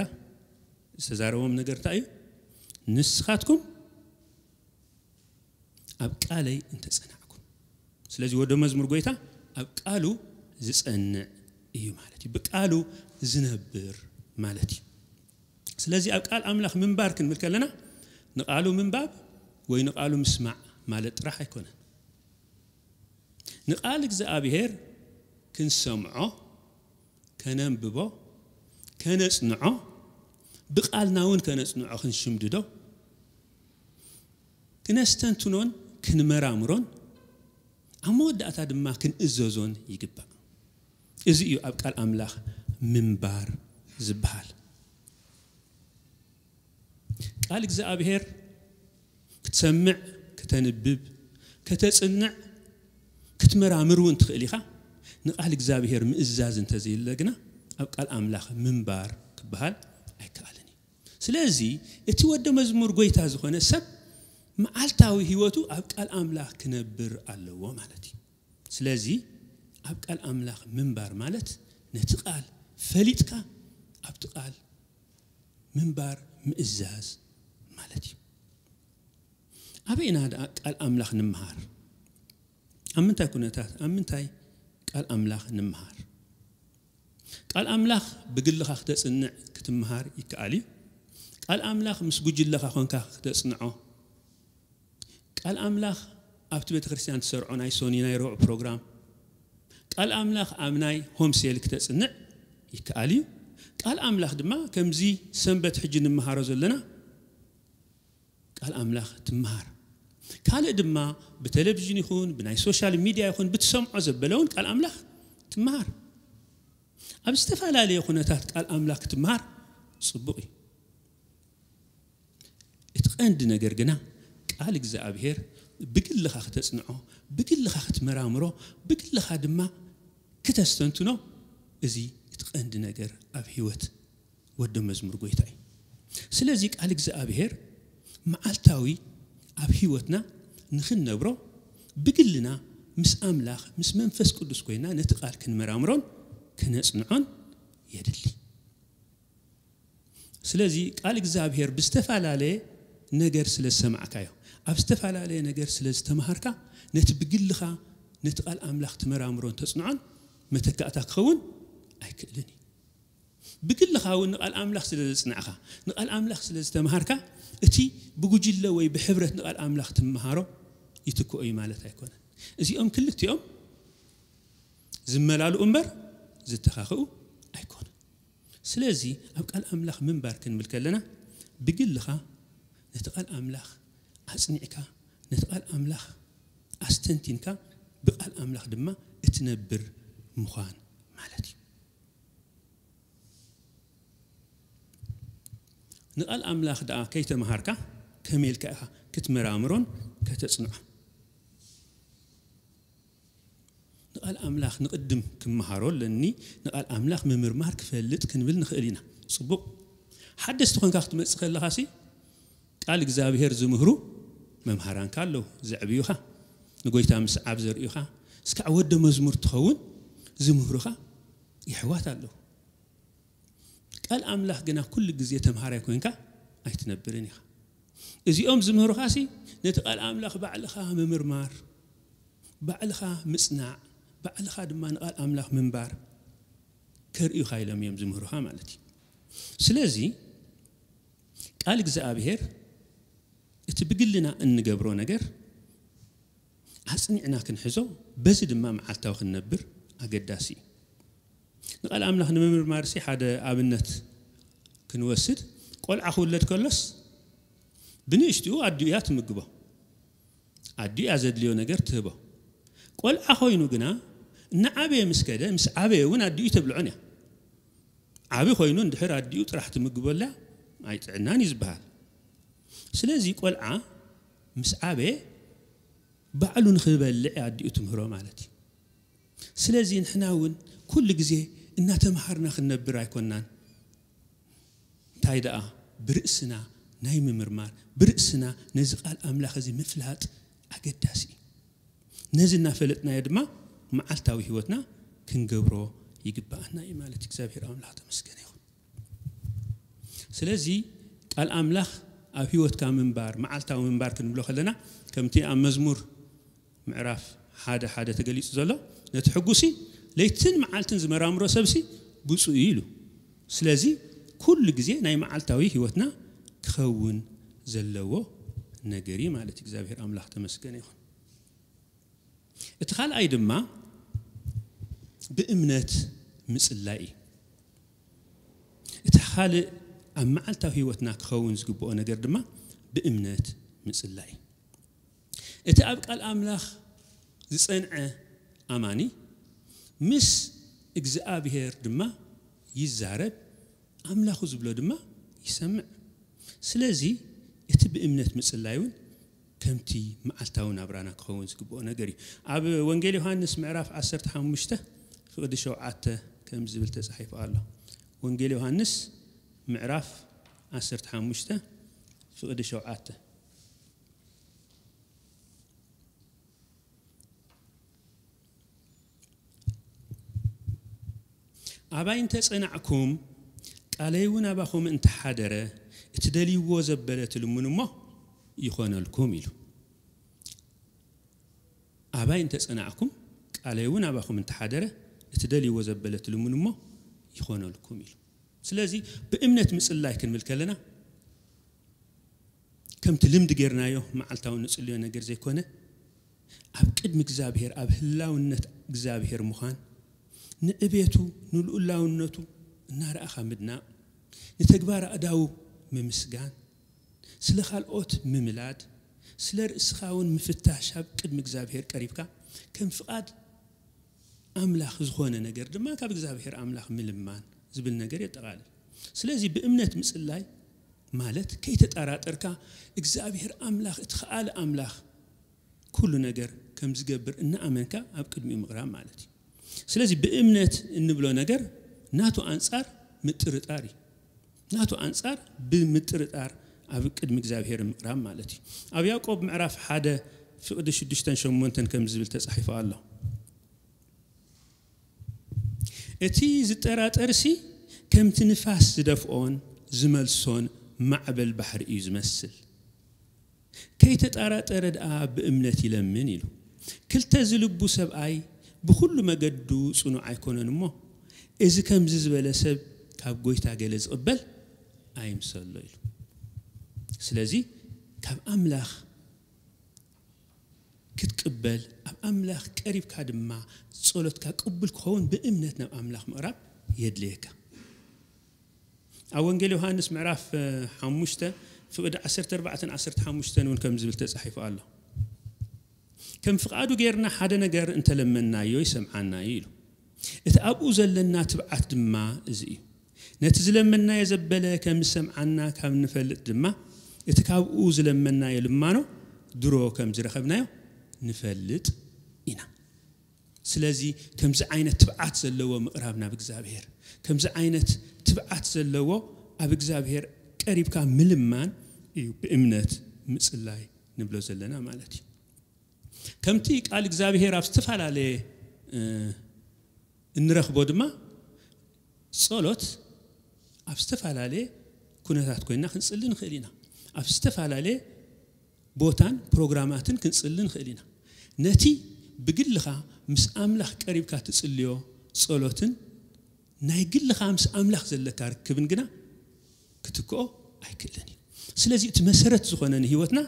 ዝተዛረቦም ነገር እንታይ እዩ? "ንስኻትኩም ኣብ ቃለይ እንተጸናዕኩም"። ስለዚ ወዶ መዝሙር ጎይታ ኣብ ቃሉ ዝጸንዕ እዩ ማለት እዩ። ብቃሉ ዝነብር ማለት እዩ። ስለዚ ኣብ ቃል ኣምላኽ ምንባር ክንብል ከለና፣ ንቃሉ ምንባብ ወይ ንቃሉ ምስማዕ ማለት ጥራሕ ኣይኮነን። ንቃል እግዚኣብሔር ክንሰምዖ፣ ከነንብቦ፣ ከነጽንዖ፣ ብቃልና እውን ከነጽንዖ፣ ክንሽምድዶ፣ ክነስተንትኖን ክንመራምሮን፣ ኣብ መወዳእታ ድማ ክንእዘዞን ይግባእ። እዚ እዩ ኣብ ቃል ኣምላኽ ምንባር ዝበሃል። ቃል እግዚኣብሔር ክትሰምዕ፣ ከተንብብ፣ ከተጽንዕ፣ ክትመራምር እውን ትኽእል ኢኻ። ንቃል እግዚኣብሔር ምእዛዝ እንተዘየለ ግና፣ ኣብ ቃል ኣምላኽ ምንባር ክበሃል ኣይከኣልን እዩ። ስለዚ እቲ ወደ መዝሙር ጎይታ ዝኾነ ሰብ፣ መዓልታዊ ህይወቱ ኣብ ቃል ኣምላኽ ክነብር ኣለዎ ማለት እዩ። ስለዚ ኣብ ቃል ኣምላኽ ምንባር ማለት፣ ነቲ ቃል ፈሊጥካ ኣብቲ ቃል ምንባር ምእዛዝ ማለት እዩ። ኣበይ ኢና ደኣ ቃል ኣምላኽ ንምሃር? ኣብ ምንታይ ኩነታት፣ ኣብ ምንታይ ቃል ኣምላኽ ንምሃር? ቃል ኣምላኽ ብግልኻ ክተጽንዕ ክትምሃር ይከኣል እዩ። ቃል ኣምላኽ ምስ ጉጅለኻ ኮንካ ክተጽንዖ፣ ቃል ኣምላኽ ኣብቲ ቤተ ክርስቲያን ትሰርዖ ናይ ሶኒ ናይ ረቡዕ ፕሮግራም፣ ቃል ኣምላኽ ኣብ ናይ ሆም ሴል ክተጽንዕ ይከኣል እዩ። ቃል ኣምላኽ ድማ ከምዚ ሰንበት ሕጂ ንምሃሮ ዘለና ቃል ኣምላኽ ትምሃር። ካልእ ድማ ብቴሌቪዥን ይኹን ብናይ ሶሻል ሚድያ ይኹን ብትሰምዖ ዘበለ እውን ቃል ኣምላኽ ትምሃር። ኣብ ዝተፈላለየ ኩነታት ቃል ኣምላኽ ክትምሃር ጽቡቕ እዩ። እቲ ቀንዲ ነገር ግና ቃል እግዚኣብሔር ብግልኻ ክተጽንዖ፣ ብግልኻ ክትመራምሮ፣ ብግልኻ ድማ ክተስተንትኖ፣ እዚ እቲ ቀንዲ ነገር ኣብ ህይወት ወዲ መዝሙር ጎይታ እዩ። ስለዚ ቃል እግዚኣብሔር መዓልታዊ ኣብ ህይወትና ንኽንነብሮ ብግልና ምስ ኣምላኽ ምስ መንፈስ ቅዱስ ኮይና ነቲ ቃል ክንመራምሮን ክነጽንዖን የድሊ። ስለዚ ቃል እግዚኣብሔር ብዝተፈላለየ ነገር ስለ ዝሰማዕካዮ፣ ኣብ ዝተፈላለየ ነገር ስለ ዝተምሃርካ፣ ነቲ ብግልኻ ነቲ ቃል ኣምላኽ ትመራምሮን ተጽንዖን መተካእታ ክኸውን ኣይክእልን እዩ። ብግልኻ እውን ንቃል ኣምላኽ ስለ ዘጽናዕካ፣ ንቃል ኣምላኽ ስለ ዝተምሃርካ፣ እቲ ብጉጅለ ወይ ብሕብረት ንቃል ኣምላኽ ትምሃሮ ይትክኦ እዩ ማለት ኣይኮነን። እዚኦም ክልቲኦም ዝመላልኡ እምበር ዝተኻኽኡ ኣይኮኑን። ስለዚ ኣብ ቃል ኣምላኽ ምንባር ክንብል ከለና፣ ብግልኻ ነቲ ቃል ኣምላኽ ኣጽኒዕካ፣ ነቲ ቃል ኣምላኽ ኣስተንቲንካ፣ ብቃል ኣምላኽ ድማ እትነብር ምዃን ማለት እዩ። ንቃል ኣምላኽ ደኣ ከይተምሃርካ ከመይ ኢልካ ኢኻ ክትመራምሮን ከተጽንዖን? ንቃል ኣምላኽ ንቕድም ክመሃሮ ኣለኒ፣ ንቃል ኣምላኽ ምምርማር ክፈልጥ ክንብል ንኽእል ኢና። ጽቡቕ። ሓደስቲ ኮንካ ክትመጽእ ከለኻሲ፣ ቃል እግዚኣብሔር ዝምህሩ መምሃራንካ ኣለዉ፣ ዘዕብዩኻ፣ ንጎይታ ምስዓብ ዘርእዩኻ፣ እስካዕ ወደ መዝሙር ትኸውን ዝምህሩኻ የሕዋት ኣለዉ። ቃል ኣምላኽ ግና ኩሉ ግዜ ተምሃራይ ኮይንካ ኣይትነብርን ኢኻ። እዚኦም ዝምህሩኻሲ ነቲ ቃል ኣምላኽ ባዕልኻ ምምርማር፣ ባዕልኻ ምጽናዕ፣ ባዕልኻ ድማ ንቃል ኣምላኽ ምንባር ከርእዩኻ ኢሎም እዮም ዝምህሩኻ ማለት እዩ። ስለዚ ቃል እግዚኣብሔር እቲ ብግልና እንገብሮ ነገር ኣጽኒዕና ክንሕዞ፣ በዚ ድማ መዓልታዊ ክንነብር ኣገዳሲ እዩ። ንቃል ኣምላኽ ንምምርማርሲ ሓደ ኣብነት ክንወስድ፣ ቆልዓ ክውለድ ከሎስ ብንእሽትኡ ኣዲኡ እያ ትምግቦ። ኣዲኡ እያ ዘድልዮ ነገር ትህቦ። ቆልዓ ኮይኑ ግና እናዓበየ ምስ ከደ፣ ምስ ዓበየ እውን ኣዲኡ ተብልዖን እያ። ዓቢ ኮይኑ እንድሕር ኣዲኡ ጥራሕ ትምግበላ ኣይጥዕናን እዩ ዝበሃል። ስለዚ ቆልዓ ምስ ዓበየ ባዕሉ ንኽበልዕ ኣዲኡ ትምህሮ ማለት እዩ። ስለዚ ንሕና እውን ኩሉ ግዜ እናተምሃርና ክንነብር ኣይኮናን። እንታይ ደኣ ብርእስና ናይ ምምርማር፣ ብርእስና ነዚ ቃል ኣምላኽ እዚ ምፍላጥ ኣገዳሲ እዩ። ነዚ እናፈለጥናዮ ድማ መዓልታዊ ህይወትና ክንገብሮ ይግብኣና እዩ ማለት እዩ። እግዚኣብሔር ኣምላኽ ተመስገነ ይኹን። ስለዚ ቃል ኣምላኽ ኣብ ህይወትካ ምንባር፣ መዓልታዊ ምንባር ክንብሎ ከለና፣ ከምቲ ኣብ መዝሙር ምዕራፍ ሓደ ሓደ ተገሊጹ ዘሎ፣ ነቲ ሕጉሲ ለይትን መዓልትን ዝመራምሮ ሰብሲ ብፁዕ እዩ ኢሉ። ስለዚ ኩሉ ግዜ ናይ መዓልታዊ ህይወትና ክኸውን ዘለዎ ነገር እዩ ማለት እዩ። እግዚኣብሔር ኣምላኽ ተመስገነ ይኹን። እቲ ካልኣይ ድማ ብእምነት ምጽላይ እዩ። እቲ ካልእ ኣብ መዓልታዊ ህይወትና ክኸውን ዝግብኦ ነገር ድማ ብእምነት ምጽላይ እዩ። እቲ ኣብ ቃል ኣምላኽ ዝጸንዐ ኣማኒ ምስ እግዚኣብሔር ድማ ይዛረብ፣ ኣምላኹ ዝብሎ ድማ ይሰምዕ። ስለዚ እቲ ብእምነት ምጽላይ እውን ከምቲ መዓልታዊ ናብራና ክኸውን ዝግብኦ ነገር እዩ። ኣብ ወንጌል ዮሃንስ ምዕራፍ ዓሰርተ ሓሙሽተ ፍቕዲ ሸውዓተ ከምዚ ዝብል ተጻሒፉ ኣሎ። ወንጌል ዮሃንስ ምዕራፍ ዓሰርተ ሓሙሽተ ፍቕዲ ሸውዓተ። ኣባይ እንተ ጸናዕኩም፣ ቃለይ እውን ኣባኹም እንተ ሓደረ፣ እትደልይዎ ዘበለ ትልምኑ እሞ ይኾነልኩም ኢሉ። ኣባይ እንተ ጸናዕኩም፣ ቃለይ እውን ኣባኹም እንተ ሓደረ፣ እትደልይዎ ዘበለ ትልምኑ እሞ ይኾነልኩም ኢሉ። ስለዚ ብእምነት ምጽላይ ክንብል ከለና፣ ከምቲ ልምዲ ጌርናዮ መዓልታዊ ንጽልዮ ነገር ዘይኮነ፣ ኣብ ቅድሚ እግዚኣብሔር፣ ኣብ ህላውነት እግዚኣብሔር ምዃን፣ ንዕቤቱ፣ ንልኡላውነቱ እናረኣኻ ምድናቕ፣ ንተግባር ኣእዳዉ ምምስጋን፣ ስለ ካልኦት ምምላድ፣ ስለ ርእስኻ እውን ምፍታሽ፣ ኣብ ቅድሚ እግዚኣብሔር ቀሪብካ ከም ፍቓድ ኣምላኽ ዝኾነ ነገር ድማ ካብ እግዚኣብሔር ኣምላኽ ምልማን ዝብል ነገር የጠቓልል። ስለዚ ብእምነት ምጽላይ ማለት ከይተጠራጠርካ እግዚኣብሔር ኣምላኽ እቲ ኸኣለ ኣምላኽ ኩሉ ነገር ከም ዝገብር እናኣመንካ ኣብ ቅድሚኡ ምቕራብ ማለት እዩ። ስለዚ ብእምነት እንብሎ ነገር ናቱ ኣንጻር ምጥርጣር እዩ። ናቱ ኣንጻር ብምጥርጣር ኣብ ቅድሚ እግዚኣብሔር ምቕራብ ማለት እዩ። ኣብ ያዕቆብ ምዕራፍ ሓደ ፍቕዲ ሽዱሽተን ሸሞንተን ከም ዝብል ተጻሒፉ ኣሎ። እቲ ዝጠራጠርሲ ከምቲ ንፋስ ዝደፍኦን ዝመልሶን ማዕበል ባሕሪ እዩ ዝመስል። ከይተጠራጠረ ደኣ ብእምነት ይለምን ኢሉ። ክልተ ዝልቡ ሰብኣይ ብኹሉ መገዱ ጽኑዕ ኣይኮነን እሞ፣ እዚ ከምዚ ዝበለ ሰብ ካብ ጎይታ ገለ ዝቕበል ኣይምሰሎ ኢሉ። ስለዚ ካብ ኣምላኽ ክትቅበል፣ ኣብ ኣምላኽ ቀሪብካ ድማ ጸሎትካ ቅቡል ክኸውን ብእምነት ናብ ኣምላኽ ምቕራብ የድልየካ። ኣብ ወንጌል ዮሃንስ ምዕራፍ፣ እ፣ ሓሙሽተ ፍቕዲ ዓሰርተ ኣርባዕተን ዓሰርተ ሓሙሽተን እውን ከም ዝብል ተጻሒፉ ኣሎ። ከም ፍቓዱ ጌርና ሓደ ነገር እንተለመናዮ ይሰምዓና እዩ ኢሉ። እቲ ኣብኡ ዘለና ትብዓት ድማ እዚ እዩ። ነቲ ዝለመናዮ ዘበለ ከም ዝሰምዓና ካብ ንፈልጥ ድማ፣ እቲ ካብኡ ዝለመናዮ ልማኖ ድሮ ከም ዝረኸብናዮ ንፈልጥ ኢና። ስለዚ ከምዚ ዓይነት ትብዓት ዘለዎ ምቕራብ ናብ እግዚኣብሔር፣ ከምዚ ዓይነት ትብዓት ዘለዎ ኣብ እግዚኣብሔር ቀሪብካ ምልማን እዩ ብእምነት ምጽላይ ንብሎ ዘለና ማለት እዩ። ከምቲ ቃል እግዚኣብሔር ኣብ ዝተፈላለየ፣ እ፣ እንረኽቦ ድማ፣ ጸሎት ኣብ ዝተፈላለየ ኩነታት ኮይንና ክንጽሊ ንኽእል ኢና። ኣብ ዝተፈላለየ ቦታን ፕሮግራማትን ክንጽሊ ንኽእል ኢና። ነቲ ብግልኻ ምስ ኣምላኽ ቀሪብካ ትጽልዮ ጸሎትን ናይ ግልኻ ምስ ኣምላኽ ዘለካ ርክብን ግና ክትክኦ ኣይክእልን እዩ። ስለዚ እቲ መሰረት ዝኾነ ንህይወትና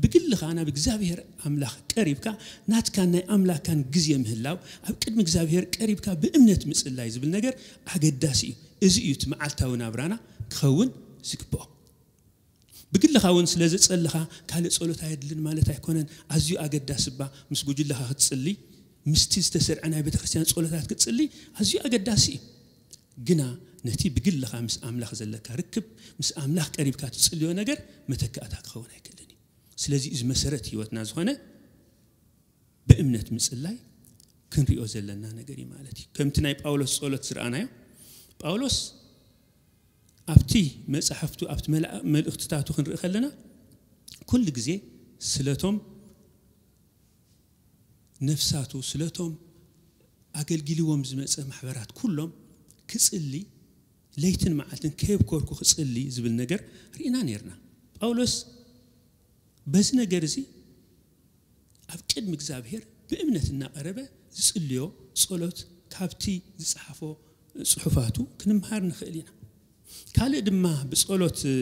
ብግልኻ ናብ እግዚኣብሔር ኣምላኽ ቀሪብካ ናትካን ናይ ኣምላኽካን ግዜ ምህላው፣ ኣብ ቅድሚ እግዚኣብሔር ቀሪብካ ብእምነት ምጽላይ ዝብል ነገር ኣገዳሲ እዩ። እዚ እዩ እቲ መዓልታዊ ናብራና ክኸውን ዝግብኦ። ብግልኻ እውን ስለ ዝጸልኻ ካልእ ጸሎት ኣየድልን ማለት ኣይኮነን። ኣዝዩ ኣገዳሲ እባ ምስ ጉጅለኻ ክትጽሊ፣ ምስቲ ዝተሰርዐ ናይ ቤተ ክርስቲያን ጸሎታት ክትጽሊ ኣዝዩ ኣገዳሲ እዩ። ግና ነቲ ብግልኻ ምስ ኣምላኽ ዘለካ ርክብ፣ ምስ ኣምላኽ ቀሪብካ ትጽልዮ ነገር መተካእታ ክኸውን ኣይክእልን እዩ። ስለዚ እዚ መሰረት ህይወትና ዝኾነ ብእምነት ምጽላይ ክንሪኦ ዘለና ነገር እዩ ማለት እዩ። ከምቲ ናይ ጳውሎስ ጸሎት ዝረኣናዮ፣ ጳውሎስ ኣብቲ መጻሕፍቱ፣ ኣብቲ መላ-፣ መልእኽትታቱ ክንርኢ ከለና፣ ኩሉ ግዜ ስለቶም ነፍሳቱ፣ ስለቶም ኣገልጊልዎም ዝመጸ ማሕበራት ኩሎም ክጽሊ፣ ለይትን መዓልትን ከየብኮርኩ ክጽሊ ዝብል ነገር ርኢና ነርና። ጳውሎስ በዚ ነገር እዚ ኣብ ቅድሚ እግዚኣብሔር ብእምነት እናቐረበ ዝጽልዮ ጸሎት ካብቲ ዝጸሓፎ ጽሑፋቱ ክንምሃር ንኽእል ኢና። ካልእ ድማ ብጸሎት፣ እ፣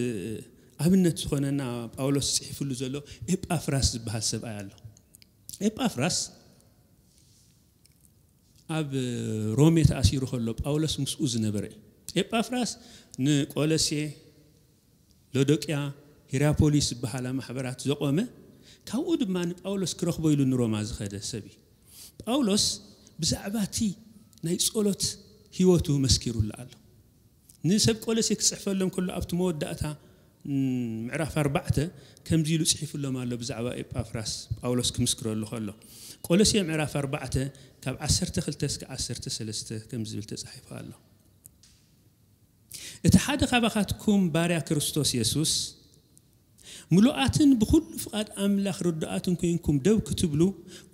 ኣብነት ዝኾነና ጳውሎስ ጽሒፍሉ ዘሎ ኤጳፍራስ ዝበሃል ሰብኣይ ኣሎ። ኤጳፍራስ ኣብ ሮሜ ተኣሲሩ ከሎ ጳውሎስ ምስኡ ዝነበረ እዩ። ኤጳፍራስ ንቆሎሴ፣ ሎዶቅያ፣ ሂራፖሊስ ዝበሃላ ማሕበራት ዘቖመ፣ ካብኡ ድማ ንጳውሎስ ክረኽቦ ኢሉ ንሮማ ዝኸደ ሰብ እዩ። ጳውሎስ ብዛዕባ እቲ ናይ ጸሎት ህይወቱ መስኪሩሉ ኣሎ። ንሰብ ቆሎሴ ክጽሕፈሎም ከሎ ኣብቲ መወዳእታ፣ ም፣ ምዕራፍ ኣርባዕተ ከምዚ ኢሉ ጽሒፉሎም ኣሎ ብዛዕባ ኤጳፍራስ ጳውሎስ ክምስክረሉ ከሎ። ቆሎሴ ምዕራፍ ኣርባዕተ ካብ ዓሰርተ ክልተ እስከ ዓሰርተ ሰለስተ ከምዚ ዝብል ተጻሒፉ ኣሎ። እቲ ሓደ ካባኻትኩም ባርያ ክርስቶስ የሱስ ምሉኣትን ብኹሉ ፍቓድ ኣምላኽ ርዱኣትን ኮይንኩም ደው ክትብሉ፣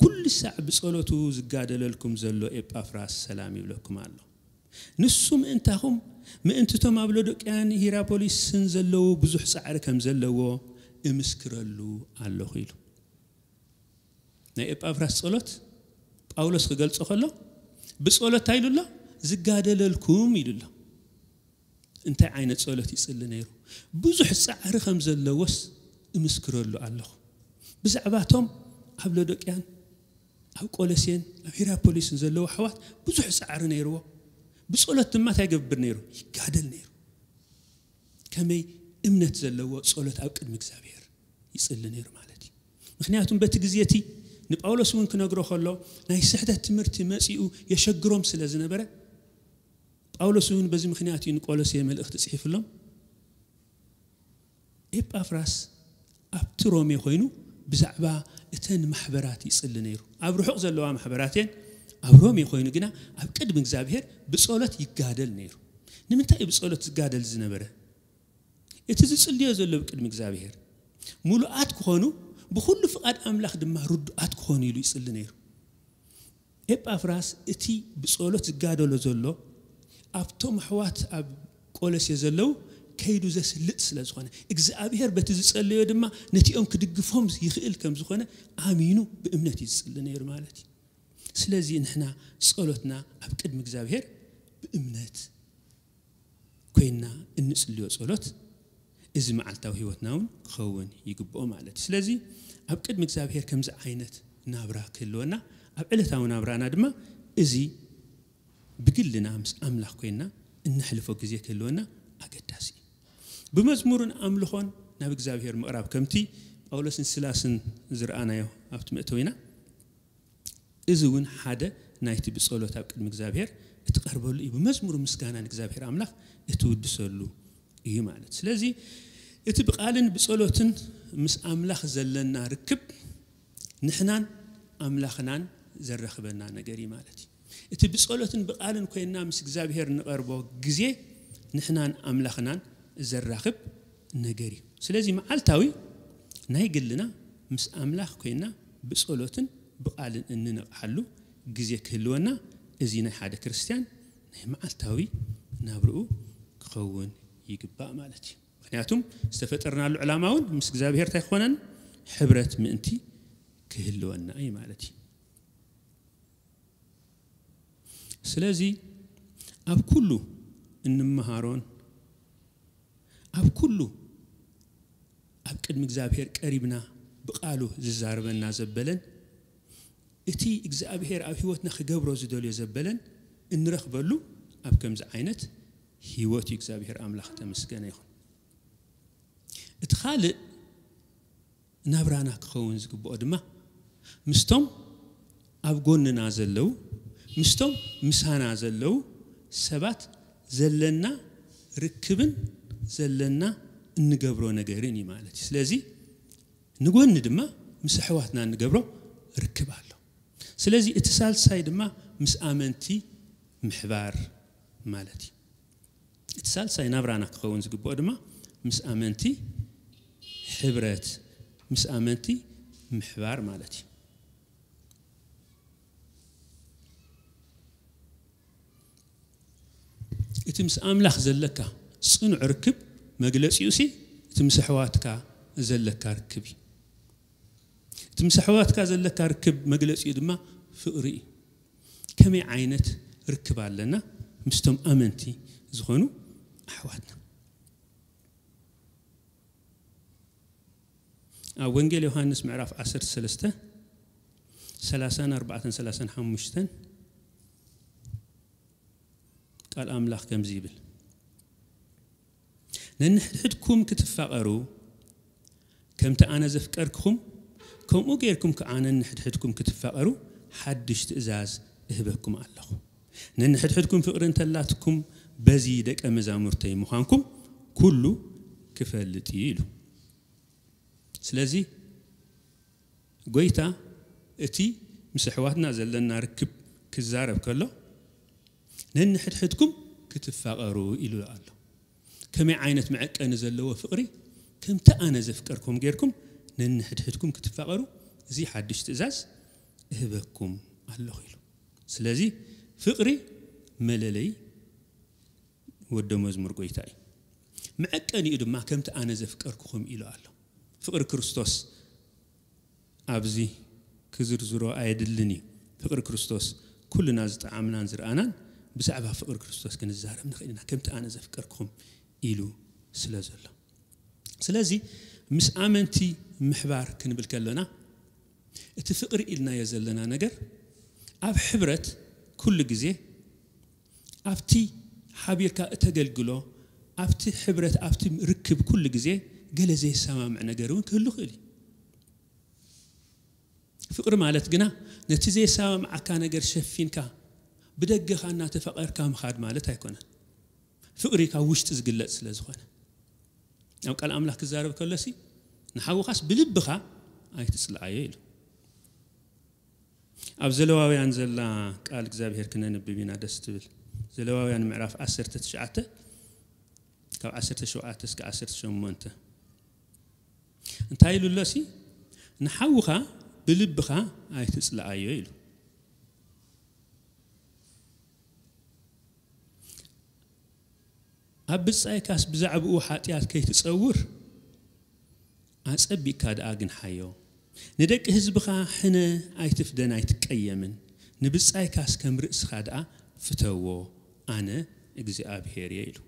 ኩሉ ሳዕ ብጸሎቱ ዝጋደለልኩም ዘሎ ኤጳፍራስ ሰላም ይብለኩም ኣሎ። ንሱ ምእንታኹም፣ ምእንትቶም ኣብ ሎዶቅያን ሂራፖሊስን ዘለዉ ብዙሕ ጻዕሪ ከም ዘለዎ እምስክረሉ ኣለኹ ኢሉ። ናይ ኤጳፍራስ ጸሎት ጳውሎስ ክገልጾ ከሎ፣ ብጸሎት እንታይ ኢሉ ኣሎ? ዝጋደለልኩም ኢሉ ኣሎ። እንታይ ዓይነት ጸሎት ይጽሊ ነይሩ? ብዙሕ ጻዕሪ ከም ዘለዎስ እምስክረሉ ኣለኹ። ብዛዕባቶም ኣብ ሎዶቅያን ኣብ ቆሎሴን ኣብ ሂራፖሊስን ዘለዉ ኣሕዋት ብዙሕ ጻዕሪ ነይርዎ። ብጸሎት ድማ እንታይ ይገብር ነይሩ? ይጋደል ነይሩ። ከመይ እምነት ዘለዎ ጸሎት ኣብ ቅድሚ እግዚኣብሔር ይጽሊ ነይሩ ማለት እዩ። ምክንያቱም በቲ ግዜ እቲ ንጳውሎስ እውን ክነግሮ ከሎ ናይ ስሕተት ትምህርቲ መጺኡ የሸግሮም ስለ ዝነበረ፣ ጳውሎስ እውን በዚ ምክንያት እዩ ንቆሎሴ መልእኽቲ ጽሒፍሎም። ኤጳፍራስ ኣብቲ ሮሜ ኮይኑ ብዛዕባ እተን ማሕበራት ይጽሊ ነይሩ። ኣብ ርሑቕ ዘለዋ ማሕበራት እየን። ኣብ ሮሜ ኮይኑ ግና ኣብ ቅድሚ እግዚኣብሔር ብጸሎት ይጋደል ነይሩ። ንምንታይ እዩ ብጸሎት ዝጋደል ዝነበረ? እቲ ዝጽልዮ ዘሎ ብቅድሚ እግዚኣብሔር ምሉኣት ክኾኑ፣ ብኹሉ ፍቓድ ኣምላኽ ድማ ርዱኣት ክኾኑ ኢሉ ይጽሊ ነይሩ። ኤጳፍራስ እቲ ብጸሎት ዝጋደሎ ዘሎ ኣብቶም ኣሕዋት ኣብ ቆሎሴ ዘለዉ ከይዱ ዘስልጥ ስለ ዝኾነ፣ እግዚኣብሔር በቲ ዝጸለዮ ድማ ነቲኦም ክድግፎም ይኽእል ከም ዝኾነ ኣሚኑ ብእምነት እዩ ዝጽሊ ነይሩ ማለት እዩ። ስለዚ ንሕና ጸሎትና ኣብ ቅድሚ እግዚኣብሔር ብእምነት ኮይንና እንጽልዮ ጸሎት እዚ መዓልታዊ ህይወትና እውን ክኸውን ይግብኦ ማለት እዩ። ስለዚ ኣብ ቅድሚ እግዚኣብሔር ከምዚ ዓይነት ናብራ ክህልወና፣ ኣብ ዕለታዊ ናብራና ድማ እዚ ብግልና ምስ ኣምላኽ ኮይንና እነሕልፎ ግዜ ክህልወና ኣገዳሲ እዩ። ብመዝሙርን ኣምልኾን ናብ እግዚኣብሔር ምቕራብ ከምቲ ጳውሎስን ሲላስን ዝረኣናዮ ኣብቲ መእተዊና፣ እዚ እውን ሓደ ናይቲ ብጸሎት ኣብ ቅድሚ እግዚኣብሔር እትቐርበሉ እዩ። ብመዝሙር ምስጋና ንእግዚኣብሔር ኣምላኽ እትውድሰሉ እዩ ማለት። ስለዚ እቲ ብቓልን ብጸሎትን ምስ ኣምላኽ ዘለና ርክብ ንሕናን ኣምላኽናን ዘራኽበና ነገር እዩ ማለት እዩ። እቲ ብጸሎትን ብቓልን ኮይንና ምስ እግዚኣብሔር ንቐርቦ ግዜ ንሕናን ኣምላኽናን ዘራኽብ ነገር እዩ። ስለዚ መዓልታዊ ናይ ግልና ምስ ኣምላኽ ኮይንና ብጸሎትን ብቓልን እንነቕሓሉ ግዜ ክህልወና፣ እዚ ናይ ሓደ ክርስትያን ናይ መዓልታዊ ናብርኡ ክኸውን ይግባእ ማለት እዩ። ምክንያቱም ዝተፈጠርናሉ ዕላማ እውን ምስ እግዚኣብሔር እንታይ ክኾነን? ሕብረት ምእንቲ ክህልወና እዩ ማለት እዩ። ስለዚ ኣብ ኩሉ እንመሃሮን ኣብ ኩሉ ኣብ ቅድሚ እግዚኣብሔር ቀሪብና ብቓሉ ዝዛረበና ዘበለን እቲ እግዚኣብሔር ኣብ ህይወትና ክገብሮ ዝደልዮ ዘበለን እንረኽበሉ ኣብ ከምዚ ዓይነት ህይወት እዩ። እግዚኣብሔር ኣምላኽ ተመስገነ ይኹን። እቲ ካልእ ናብራና ክኸውን ዝግብኦ ድማ ምስቶም ኣብ ጎንና ዘለዉ፣ ምስቶም ምሳና ዘለዉ ሰባት ዘለና ርክብን ዘለና እንገብሮ ነገርን እዩ ማለት እዩ። ስለዚ ንጎኒ ድማ ምስ ኣሕዋትና እንገብሮ ርክብ ኣሎ። ስለዚ እቲ ሳልሳይ ድማ ምስ ኣመንቲ ምሕባር ማለት እዩ። እቲ ሳልሳይ ናብራና ክኸውን ዝግብኦ ድማ ምስ ኣመንቲ ሕብረት፣ ምስ ኣመንቲ ምሕባር ማለት እዩ። እቲ ምስ ኣምላኽ ዘለካ ጽኑዕ ርክብ መግለጺኡ ሲ እቲ ምስ ኣሕዋትካ ዘለካ ርክብ እዩ። እቲ ምስ ኣሕዋትካ ዘለካ ርክብ መግለጺኡ ድማ ፍቕሪ እዩ። ከመይ ዓይነት ርክብ ኣለና ምስቶም ኣመንቲ ዝኾኑ ኣሕዋትና? ኣብ ወንጌል ዮሃንስ ምዕራፍ ዓሰርተ ሰለስተ፣ ሰላሳን ኣርባዕተን ሰላሳን ሓሙሽተን ቃል ኣምላኽ ከምዚ ይብል፣ ነንሕድሕድኩም ክትፋቐሩ፣ ከምቲ ኣነ ዘፍቀርክኹም፣ ከምኡ ጌርኩም ከኣ ነንሕድሕድኩም ክትፋቐሩ ሓድሽ ትእዛዝ እህበኩም ኣለኹ። ነንሕድሕድኩም ፍቕሪ እንተላትኩም፣ በዚ ደቀ መዛሙርተይ ምዃንኩም ኩሉ ክፈልጥ እዩ ኢሉ። ስለዚ ጎይታ እቲ ምስ ኣሕዋትና ዘለና ርክብ ክዛረብ ከሎ፣ ነንሕድሕድኩም ክትፋቐሩ ኢሉ ኣሎ። ከመይ ዓይነት መዐቀኒ ዘለዎ ፍቕሪ! ከምቲ ኣነ ዘፍቀርኩም ጌርኩም ነንሕድሕድኩም ክትፋቐሩ፣ እዚ ሓድሽ ትእዛዝ እህበኩም ኣለኹ ኢሉ። ስለዚ ፍቕሪ መለለይ ወዶ መዝሙር ጎይታ እዩ። መዐቀኒኡ ድማ ከምቲ ኣነ ዘፍቀርኩኹም ኢሉ ኣሎ። ፍቕሪ ክርስቶስ ኣብዚ ክዝርዝሮ ኣየድልን እዩ። ፍቕሪ ክርስቶስ ኩልና ዝጠዓምናን ዝረኣናን ብዛዕባ ፍቕሪ ክርስቶስ ክንዛረብ ንኽእል ኢና፣ ከምቲ ኣነ ዘፍቀርኩኹም ኢሉ ስለ ዘሎ። ስለዚ ምስ ኣመንቲ ምሕባር ክንብል ከለና፣ እቲ ፍቕሪ ኢልናዮ ዘለና ነገር ኣብ ሕብረት ኩሉ ግዜ፣ ኣብቲ ሓቢርካ እተገልግሎ፣ ኣብቲ ሕብረት፣ ኣብቲ ርክብ ኩሉ ግዜ ገለ ዘይሰማምዕ ነገር እውን ክህሉ ይኽእል እዩ። ፍቕሪ ማለት ግና ነቲ ዘይሰማምዓካ ነገር ሸፊንካ ብደገኻ እናተፋቐርካ ምኻድ ማለት ኣይኮነን። ፍቕሪ ካብ ውሽጢ ዝግለጽ ስለ ዝኾነ፣ ኣብ ቃል ኣምላኽ ክዛረብ ከሎሲ፣ "ንሓውኻስ ብልብኻ ኣይትጽልኣዮ" ኢሉ። ኣብ ዘለዋውያን ዘላ ቃል እግዚኣብሔር ክነንብብ ኢና፣ ደስ ትብል። ዘለዋውያን ምዕራፍ ዓሰርተ ትሽዓተ፣ ካብ ዓሰርተ ሸውዓተ እስከ ዓሰርተ ሸሞንተ እንታይ ኢሉ ኣሎሲ? "ንሓውኻ ብልብኻ ኣይትጽልኣዮ" ኢሉ። "ኣብ ብጻይካስ ብዛዕባኡ ሓጢኣት ከይትጸውር፣ ኣጸቢቕካ ደኣ ግንሓዮ። ንደቂ ህዝብኻ ሕነ ኣይትፍደን ኣይትቀየምን፣ ንብጻይካስ ከም ርእስኻ ደኣ ፍተዎ፣ ኣነ እግዚኣብሔር እየ" ኢሉ።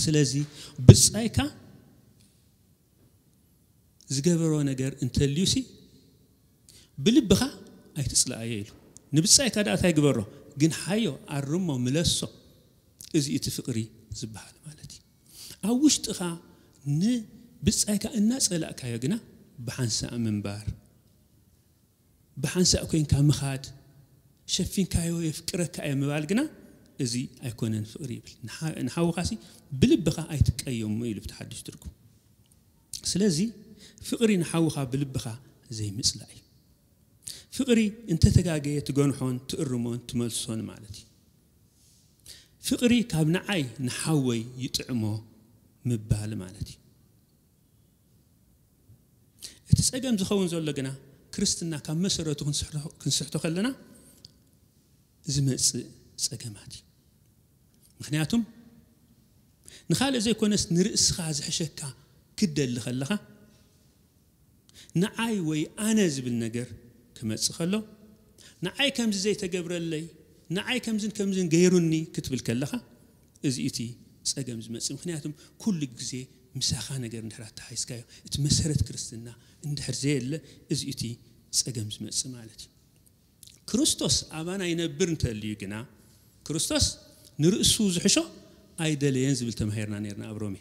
ስለዚ ብጻይካ ዝገበሮ ነገር እንተልዩሲ፣ ብልብኻ ኣይትጽልኣዮ ኢሉ። ንብጻይካ ደኣ እንታይ ግበሮ? ግንሓዮ፣ ኣርሞ፣ ምለሶ። እዚ እቲ ፍቕሪ ዝበሃል ማለት እዩ። ኣብ ውሽጥኻ ንብጻይካ እናጸላእካዮ ግና ብሓንሳእ ምንባር፣ ብሓንሳእ ኮይንካ ምኻድ፣ ሸፊንካዮ የፍቅረካ እየ ምባል ግና እዚ ኣይኮነን ፍቕሪ ይብል። ንሓ-፣ ንሓውኻሲ ብልብኻ ኣይትቀየሞ ኢሉ ብቲ ሓድሽ ትርጉም። ስለዚ ፍቕሪ ንሓውኻ ብልብኻ ዘይምጽላእ እዩ። ፍቕሪ እንተተጋገየ ትገንሖን ትእርሞን ትመልሶን ማለት እዩ። ፍቕሪ ካብ ንዓይ ንሓወይ ይጥዕሞ ምባል ማለት እዩ። እቲ ጸገም ዝኸውን ዘሎ ግና ክርስትና ካብ መሰረቱ ክንስሕቶ፣ ክንስሕቶ ከለና ዝመጽእ ጸገማት እዩ። ምኽንያቱም ንኻልእ ዘይኮነስ ንርእስኻ ዝሕሸካ ክደሊ ከለኻ፣ ንዓይ ወይ ኣነ ዝብል ነገር ክመጽእ ከሎ፣ ንዓይ ከምዚ ዘይተገብረለይ፣ ንዓይ ከምዝን ከምዝን ገይሩኒ ክትብል ከለኻ፣ እዚ እቲ ጸገም ዝመጽእ። ምኽንያቱም ኩሉ ግዜ ምሳኻ ነገር እንድሕር ኣተሓሒዝካዮ፣ እቲ መሰረት ክርስትና እንድሕር ዘየለ፣ እዚ እቲ ጸገም ዝመጽእ ማለት እዩ። ክርስቶስ ኣባና ይነብር እንተልዩ ግና፣ ክርስቶስ ንርእሱ ዝሕሾ ኣይደለየን ዝብል ተማሂርና ነርና ኣብ ሮሜ።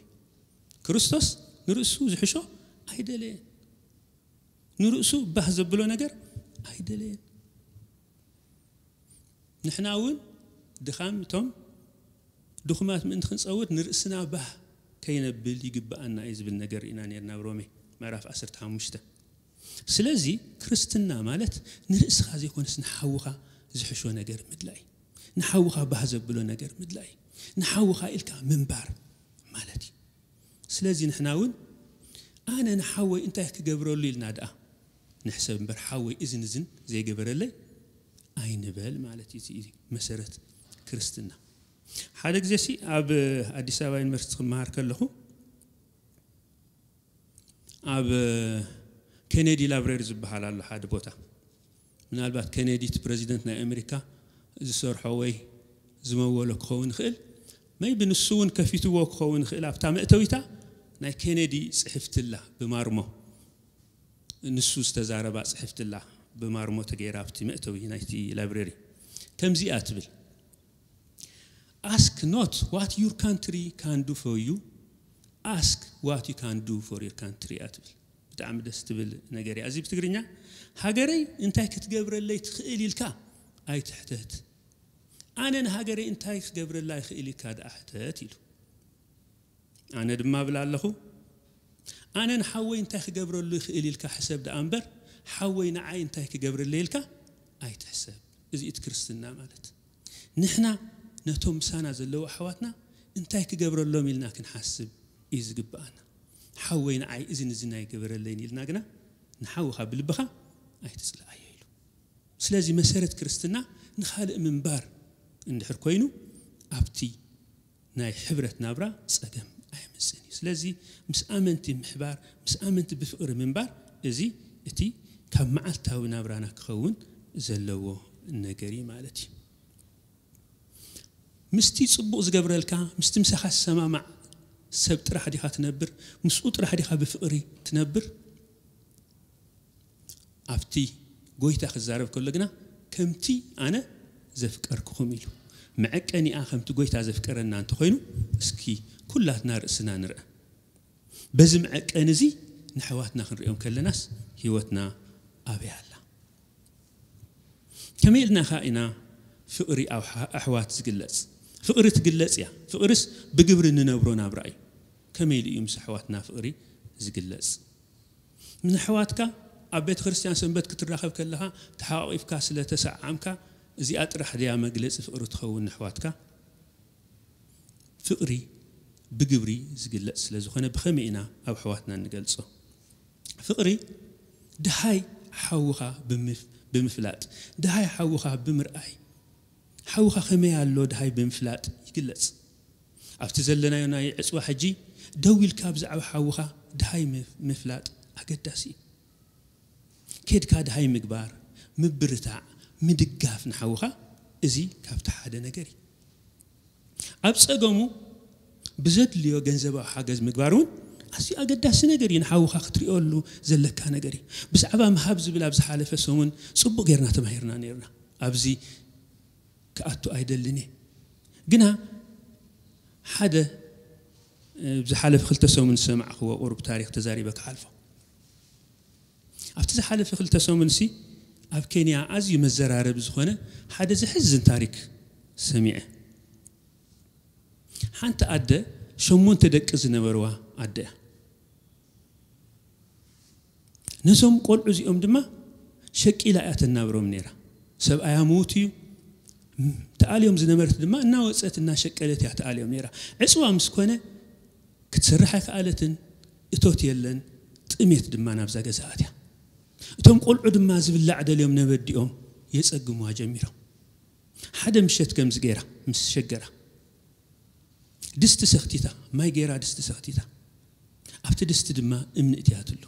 ክርስቶስ ንርእሱ ዝሕሾ ኣይደለየን። ንርእሱ ባህ ዘብሎ ነገር ኣይደለየን። ንሕና እውን ድኻም እቶም ድኹማት ምእንቲ ክንጸውር ንርእስና ባህ ከይነብል ይግብኣና እዩ ዝብል ነገር ኢና ነርና ኣብ ሮሜ ምዕራፍ ዓሰርተ ሓሙሽተ። ስለዚ ክርስትና ማለት ንርእስኻ ዘይኮነስ ንሓውኻ ዝሕሾ ነገር ምድላይ፣ ንሓውኻ ባህ ዘብሎ ነገር ምድላይ፣ ንሓውኻ ኢልካ ምንባር ማለት እዩ። ስለዚ ንሕና እውን ኣነ ንሓወይ እንታይ ክገብረሉ ኢልና ደኣ ንሕሰብ እምበር፣ ሓወይ እዝን እዝን ዘይገበረለይ ኣይንበል ማለት እዩ። እዚ እዩ መሰረት ክርስትና። ሓደ ግዜ ሲ ኣብ ኣዲስ ኣበባ ዩኒቨርሲቲ ክመሃር ከለኹ ኣብ ኬኔዲ ላይብረሪ ዝበሃል ኣሎ ሓደ ቦታ። ምናልባት ኬኔዲ እቲ ፕረዚደንት ናይ ኣሜሪካ ዝሰርሖ ወይ ዝመወሎ ክኸውን ይኽእል። መይቢ ንሱ እውን ከፊትዎ ክኸውን ይኽእል። ኣብታ መእተዊታ ናይ ኬኔዲ ጽሕፍትላ ብማርሞ፣ ንሱ ዝተዛረባ ጽሕፍትላ ብማርሞ ተገይራ ኣብቲ መእተዊ ናይቲ ላይብረሪ ከምዚኣ ትብል፣ "Ask not what your country can do for you, ask what you can do for your country" እያ ትብል። ብጣዕሚ ደስ ትብል ነገር እያ። እዚ ብትግርኛ፣ "ሃገረይ እንታይ ክትገብረለይ ትኽእል ኢልካ ኣይትሕተት፣ ኣነ ንሃገረይ እንታይ ክገብረላ ይኽእል ኢልካ ደኣ ሕተት" ኢሉ። ኣነ ድማ እብል ኣለኹ፣ ኣነ ንሓወይ እንታይ ክገብረሉ ይኽእል ኢልካ ሕሰብ ደኣ እምበር፣ ሓወይ ንዓይ እንታይ ክገብረለይ ኢልካ ኣይትሕሰብ። እዚ እቲ ክርስትና ማለት። ንሕና ነቶም ምሳና ዘለዉ ኣሕዋትና እንታይ ክገብረሎም ኢልና ክንሓስብ እዩ ዝግብኣና። ሓወይ ንዓይ እዝን እዝን ኣይገበረለይን ኢልና ግና ንሓውኻ ብልብኻ ኣይትጽልኣዮ ኢሉ። ስለዚ መሰረት ክርስትና ንኻልእ ምንባር እንድሕር ኮይኑ፣ ኣብቲ ናይ ሕብረት ናብራ ጸገም ኣየምጽእን እዩ። ስለዚ ምስ ኣመንቲ ምሕባር፣ ምስ ኣመንቲ ብፍቕሪ ምንባር፣ እዚ እቲ ካብ መዓልታዊ ናብራና ክኸውን ዘለዎ ነገር እዩ ማለት እዩ። ምስቲ ጽቡቕ ዝገብረልካ፣ ምስቲ ምሳኻ ዝሰማማዕ ሰብ ጥራሕ ዲኻ ትነብር? ምስኡ ጥራሕ ዲኻ ብፍቕሪ ትነብር? ኣብቲ ጎይታ ክዛረብ ከሎ ግና ከምቲ ኣነ ዘፍቀርኩኹም ኢሉ። መዐቀኒኣ ከምቲ ጎይታ ዘፍቀረና እንተኾይኑ እስኪ ኩላትና ርእስና ንርአ። በዚ መዐቀኒ እዚ ንሕዋትና ክንሪኦም ከለናስ ህይወትና ኣበይ ኣላ? ከመይ ኢልና ኸ ኢና ፍቕሪ ኣብ ኣሕዋት ዝግለጽ? ፍቕሪ ትግለጽ እያ። ፍቕርስ ብግብሪ እንነብሮ ናብራ እዩ። ከመይ ኢሉ እዩ ምስ ኣሕዋትና ፍቕሪ ዝግለጽ? ንኣሕዋትካ ኣብ ቤተ ክርስቲያን ሰንበት ክትራኸብ ከለኻ ተሓቋቒፍካ ስለ ተሰዓምካ እዚኣ ጥራሕ ድያ መግለጺ ፍቕሪ ትኸውን ንኣሕዋትካ? ፍቕሪ ብግብሪ ዝግለጽ ስለ ዝኾነ ብኸመይ ኢና ኣብ ኣሕዋትና እንገልጾ? ፍቕሪ ድሃይ ሓውኻ ብምፍ- ብምፍላጥ፣ ድሃይ ሓውኻ ብምርኣይ፣ ሓውኻ ከመይ ኣሎ ድሃይ ብምፍላጥ ይግለጽ። ኣብቲ ዘለናዮ ናይ ዕጽዋ ሕጂ ደው ኢልካ ብዛዕባ ሓውኻ ድሃይ ምፍ- ምፍላጥ ኣገዳሲ እዩ። ኬድካ ድሃይ ምግባር፣ ምብርታዕ፣ ምድጋፍ ንሓውኻ እዚ ካብቲ ሓደ ነገር እዩ። ኣብ ጸገሙ ብዘድልዮ ገንዘባዊ ሓገዝ ምግባር እውን ኣዝዩ ኣገዳሲ ነገር እዩ። ንሓውኻ ክትሪኦሉ ዘለካ ነገር እዩ። ብዛዕባ ምሃብ ዝብል ኣብ ዝሓለፈ ሰሙን ጽቡቕ ጌርና ተማሂርና ነይርና። ኣብዚ ክኣቱ ኣይደልን እየ። ግና ሓደ እ፣ ዝሓለፈ ክልተ ሰሙን ዝሰማዕክዎ ቁሩብ ታሪኽ ተዛሪበ ክሓልፎ። ኣብቲ ዝሓለፈ ክልተ ሰሙንሲ ኣብ ኬንያ ኣዝዩ መዘራረቢ ዝኾነ ሓደ ዘሕዝን ታሪክ ሰሚዐ። ሓንቲ ኣደ ሸሞንተ ደቂ ዝነበርዋ ኣደ እያ። ነዞም ቆልዑ እዚኦም ድማ ሸቂላ እያ ተናብሮም ነይራ። ሰብኣያ ምዉት እዩ። ም- ተኣልዮም ዝነበረት ድማ እናወፀት እናሸቀለት እያ ተኣልዮም ነይራ። ዕፅዋ ምስ ኮነ ክትሰርሕ ኣይከኣለትን፣ እቶት የለን፣ ጥሜት ድማ ናብዛ ገዛ ኣትያ። እቶም ቆልዑ ድማ ዝብላዕ ደልዮም ነበዲኦም የፀግሙዋ ጀሚሮም። ሓደ ምሸት ከምዚ ገይራ ምስ ሸገራ ድስቲ ሰኽቲታ፣ ማይ ገይራ ድስቲ ሰኽቲታ፣ ኣብቲ ድስቲ ድማ እምኒ እትያትሉ።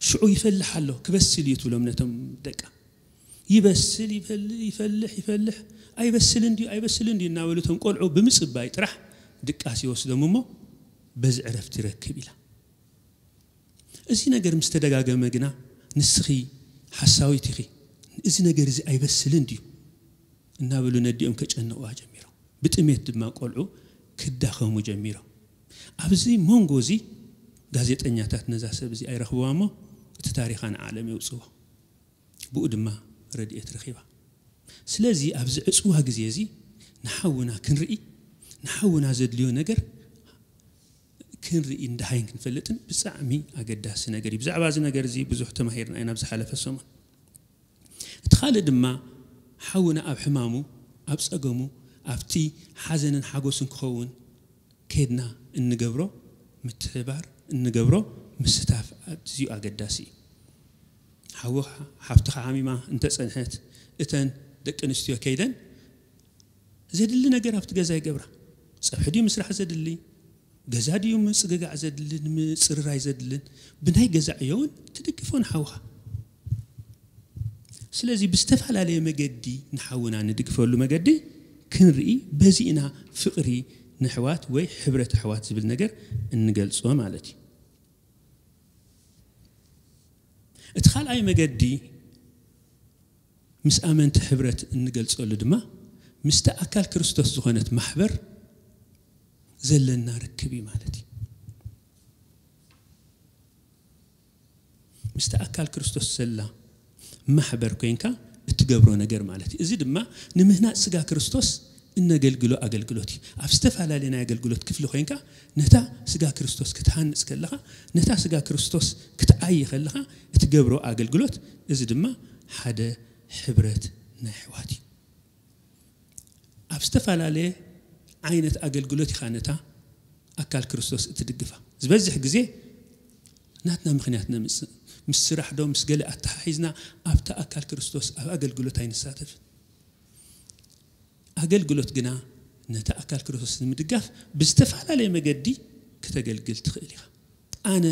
ሽዑ ይፈልሕ ኣሎ፣ ክበስል እዩ ትብሎም ነቶም ደቃ። ይበስል ይፈልሕ ይፈልሕ ይፈልሕ፣ ኣይበስልን ድዩ ኣይበስልን ድዩ እናበሉ እቶም ቆልዑ ብምፅባይ ጥራሕ ድቃስ ይወስዶም እሞ በዚ ዕረፍቲ ይረክብ ኢላ። እዚ ነገር ምስ ተደጋገመ ግና ንስኺ ሓሳዊት ኢኺ፣ እዚ ነገር እዚ ኣይበስልን ድዩ እናበሉ ነዲኦም ከጨንቕዋ ጀሚሮም። ብጥሜት ድማ ቆልዑ ክዳኸሙ ጀሚሮም። ኣብዚ መንጎ እዚ ጋዜጠኛታት ነዛ ሰብ እዚ ኣይረኽብዋ እሞ እቲ ታሪኻ ንዓለም የውፅዎ። ብኡ ድማ ረድኤት ረኺባ። ስለዚ ኣብዚ ዕፅዋ ግዜ እዚ ንሓውና ክንርኢ፣ ንሓውና ዘድልዮ ነገር ክንርኢ፣ እንዳሃይን ክንፈልጥን ብጣዕሚ ኣገዳሲ ነገር እዩ። ብዛዕባ እዚ ነገር እዚ ብዙሕ ተማሂርና ኢና ኣብ ዝሓለፈ ሰሙን። እቲ ካልእ ድማ ሓውና ኣብ ሕማሙ፣ ኣብ ጸገሙ፣ ኣብቲ ሓዘንን ሓጎስን ክኸውን ከድና እንገብሮ ምትሕባር፣ እንገብሮ ምስታፍ ኣዝዩ ኣገዳሲ እዩ። ሓውኻ ሓፍትኻ ሓሚማ እንተጸንሐት እተን ደቂ ኣንስትዮ ከይደን ዘድሊ ነገር ኣብቲ ገዛ ይገብራ። ጸብሒ ድዩ ምስራሕ ዘድሊ? ገዛ ድዩ ምጽግጋዕ ዘድልን ምጽርራይ ዘድልን? ብናይ ገዛ ዕዮ እውን ትድግፎ ንሓውኻ። ስለዚ ብዝተፈላለየ መገዲ ንሓውና ንድግፈሉ መገዲ ክንርኢ፣ በዚ ኢና ፍቕሪ ንሕዋት ወይ ሕብረት ኣሕዋት ዝብል ነገር እንገልጾ ማለት እዩ። እቲ ካልኣይ መገዲ ምስ ኣመንቲ ሕብረት እንገልጸሉ ድማ ምስቲ ኣካል ክርስቶስ ዝኾነት ማሕበር ዘለና ርክብ እዩ ማለት እዩ። ምስቲ ኣካል ክርስቶስ ዘላ ማሕበር ኮይንካ እትገብሮ ነገር ማለት እዩ። እዚ ድማ ንምህናጽ ስጋ ክርስቶስ እነገልግሎ ኣገልግሎት እዩ። ኣብ ዝተፈላለየ ናይ ኣገልግሎት ክፍሊ ኮይንካ ነታ ስጋ ክርስቶስ ክትሃንጽ ከለኻ፣ ነታ ስጋ ክርስቶስ ክትዓይ ከለኻ እትገብሮ ኣገልግሎት፣ እዚ ድማ ሓደ ሕብረት ናይ ኣሕዋት እዩ። ኣብ ዝተፈላለየ ዓይነት ኣገልግሎት ኢኻ ነታ ኣካል ክርስቶስ እትድግፋ። ዝበዝሕ ግዜ ናትና ምኽንያት ነምጽእ። ምስ ስራሕ ዶ ምስ ገለ ኣተሓሒዝና ኣብታ ኣካል ክርስቶስ ኣብ ኣገልግሎት ኣይንሳተፍን። ኣገልግሎት ግና ነታ ኣካል ክርስቶስ ንምድጋፍ ብዝተፈላለየ መገዲ ክተገልግል ትኽእል ኢኻ። ኣነ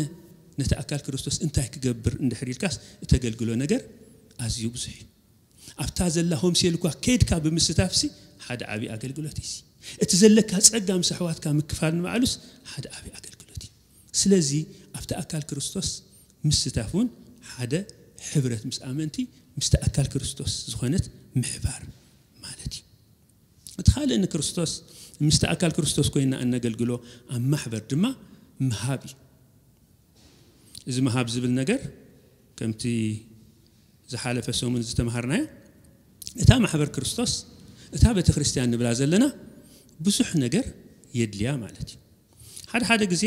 ነቲ ኣካል ክርስቶስ እንታይ ክገብር እንድሕር ኢልካስ እተገልግሎ ነገር ኣዝዩ ብዙሕ እዩ። ኣብታ ዘላ ሆምሴል እኳ ከይድካ ብምስታፍሲ ሓደ ዓብዪ ኣገልግሎት እዩ። እቲ ዘለካ ጸጋ ምስ ኣሕዋትካ ምክፋል ንባዕሉስ ሓደ ዓብዪ ኣገልግሎት እዩ። ስለዚ ኣብቲ ኣካል ክርስቶስ ምስታፍ እውን ሓደ ሕብረት ምስ ኣመንቲ፣ ምስቲ ኣካል ክርስቶስ ዝኾነት ምሕባር ማለት እዩ። እቲ ካልእ ንክርስቶስ ምስቲ ኣካል ክርስቶስ ኮይና እነገልግሎ ኣብ ማሕበር ድማ ምሃብ እዩ። እዚ ምሃብ ዝብል ነገር ከምቲ ዝሓለፈ ሰሙን ዝተምሃርናዮ፣ እታ ማሕበር ክርስቶስ፣ እታ ቤተ ክርስቲያን ንብላ ዘለና ብዙሕ ነገር የድልያ ማለት እዩ። ሓደ ሓደ ግዜ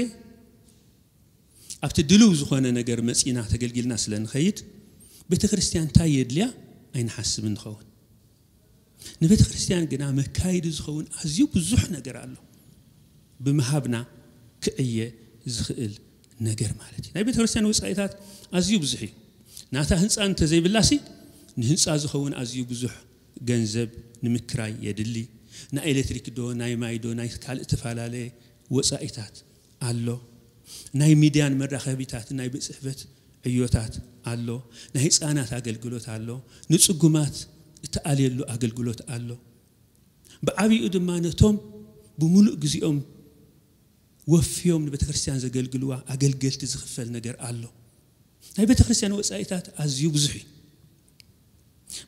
ኣብቲ ድልው ዝኾነ ነገር መጺና ተገልጊልና ስለ ንኸይድ፣ ቤተ ክርስቲያን እንታይ የድልያ ኣይንሓስብን ንኸውን። ንቤተ ክርስቲያን ግና መካይዲ ዝኸውን ኣዝዩ ብዙሕ ነገር ኣሎ። ብምሃብና ክዕየ ዝኽእል ነገር ማለት እዩ። ናይ ቤተ ክርስቲያን ወጻኢታት ኣዝዩ ብዙሕ እዩ። ናታ ህንጻ እንተዘይብላሲ፣ ንህንጻ ዝኸውን ኣዝዩ ብዙሕ ገንዘብ ንምክራይ የድሊ። ናይ ኤሌክትሪክ ዶ፣ ናይ ማይ ዶ፣ ናይ ካልእ ተፈላለየ ወጻኢታት ኣሎ። ናይ ሚድያን መራኸቢታት፣ ናይ ቤት ጽሕፈት ዕዮታት ኣሎ። ናይ ህፃናት ኣገልግሎት ኣሎ። ንጽጉማት እተኣልየሉ ኣገልግሎት ኣሎ። ብዓቢኡ ድማ ነቶም ብምሉእ ግዜኦም ወፍዮም ንቤተ ክርስቲያን ዘገልግልዋ ኣገልገልቲ ዝኽፈል ነገር ኣሎ። ናይ ቤተ ክርስቲያን ወጻኢታት ኣዝዩ ብዙሕ እዩ።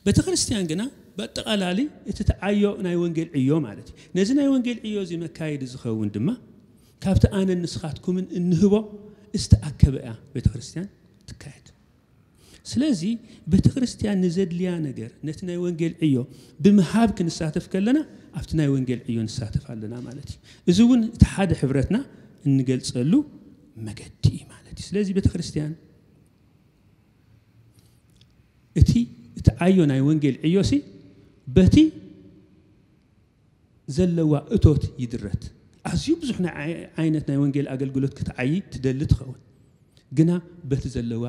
ቤተ ክርስቲያን ግና ብኣጠቓላሊ እቲ ተዓዮ ናይ ወንጌል ዕዮ ማለት እዩ። ነዚ ናይ ወንጌል ዕዮ እዚ መካየዲ ዝኸውን ድማ ካብቲ ኣነን ንስኻትኩምን እንህቦ ዝተኣከበ እያ ቤተ ክርስቲያን ትካየድ። ስለዚ ቤተ ክርስቲያን ንዘድልያ ነገር ነቲ ናይ ወንጌል ዕዮ ብምሃብ ክንሳተፍ ከለና ኣብቲ ናይ ወንጌል ዕዮ ንሳተፍ ኣለና ማለት እዩ። እዚ እውን እቲ ሓደ ሕብረትና እንገልጸሉ መገዲ እዩ ማለት እዩ። ስለዚ ቤተ ክርስቲያን እቲ እቲ ዓዮ ናይ ወንጌል ዕዮሲ በቲ ዘለዋ እቶት ይድረት። ኣዝዩ ብዙሕ ናይ ዓይ- ዓይነት ናይ ወንጌል ኣገልግሎት ክትዓይ ትደሊ ትኸውን፣ ግና በቲ ዘለዋ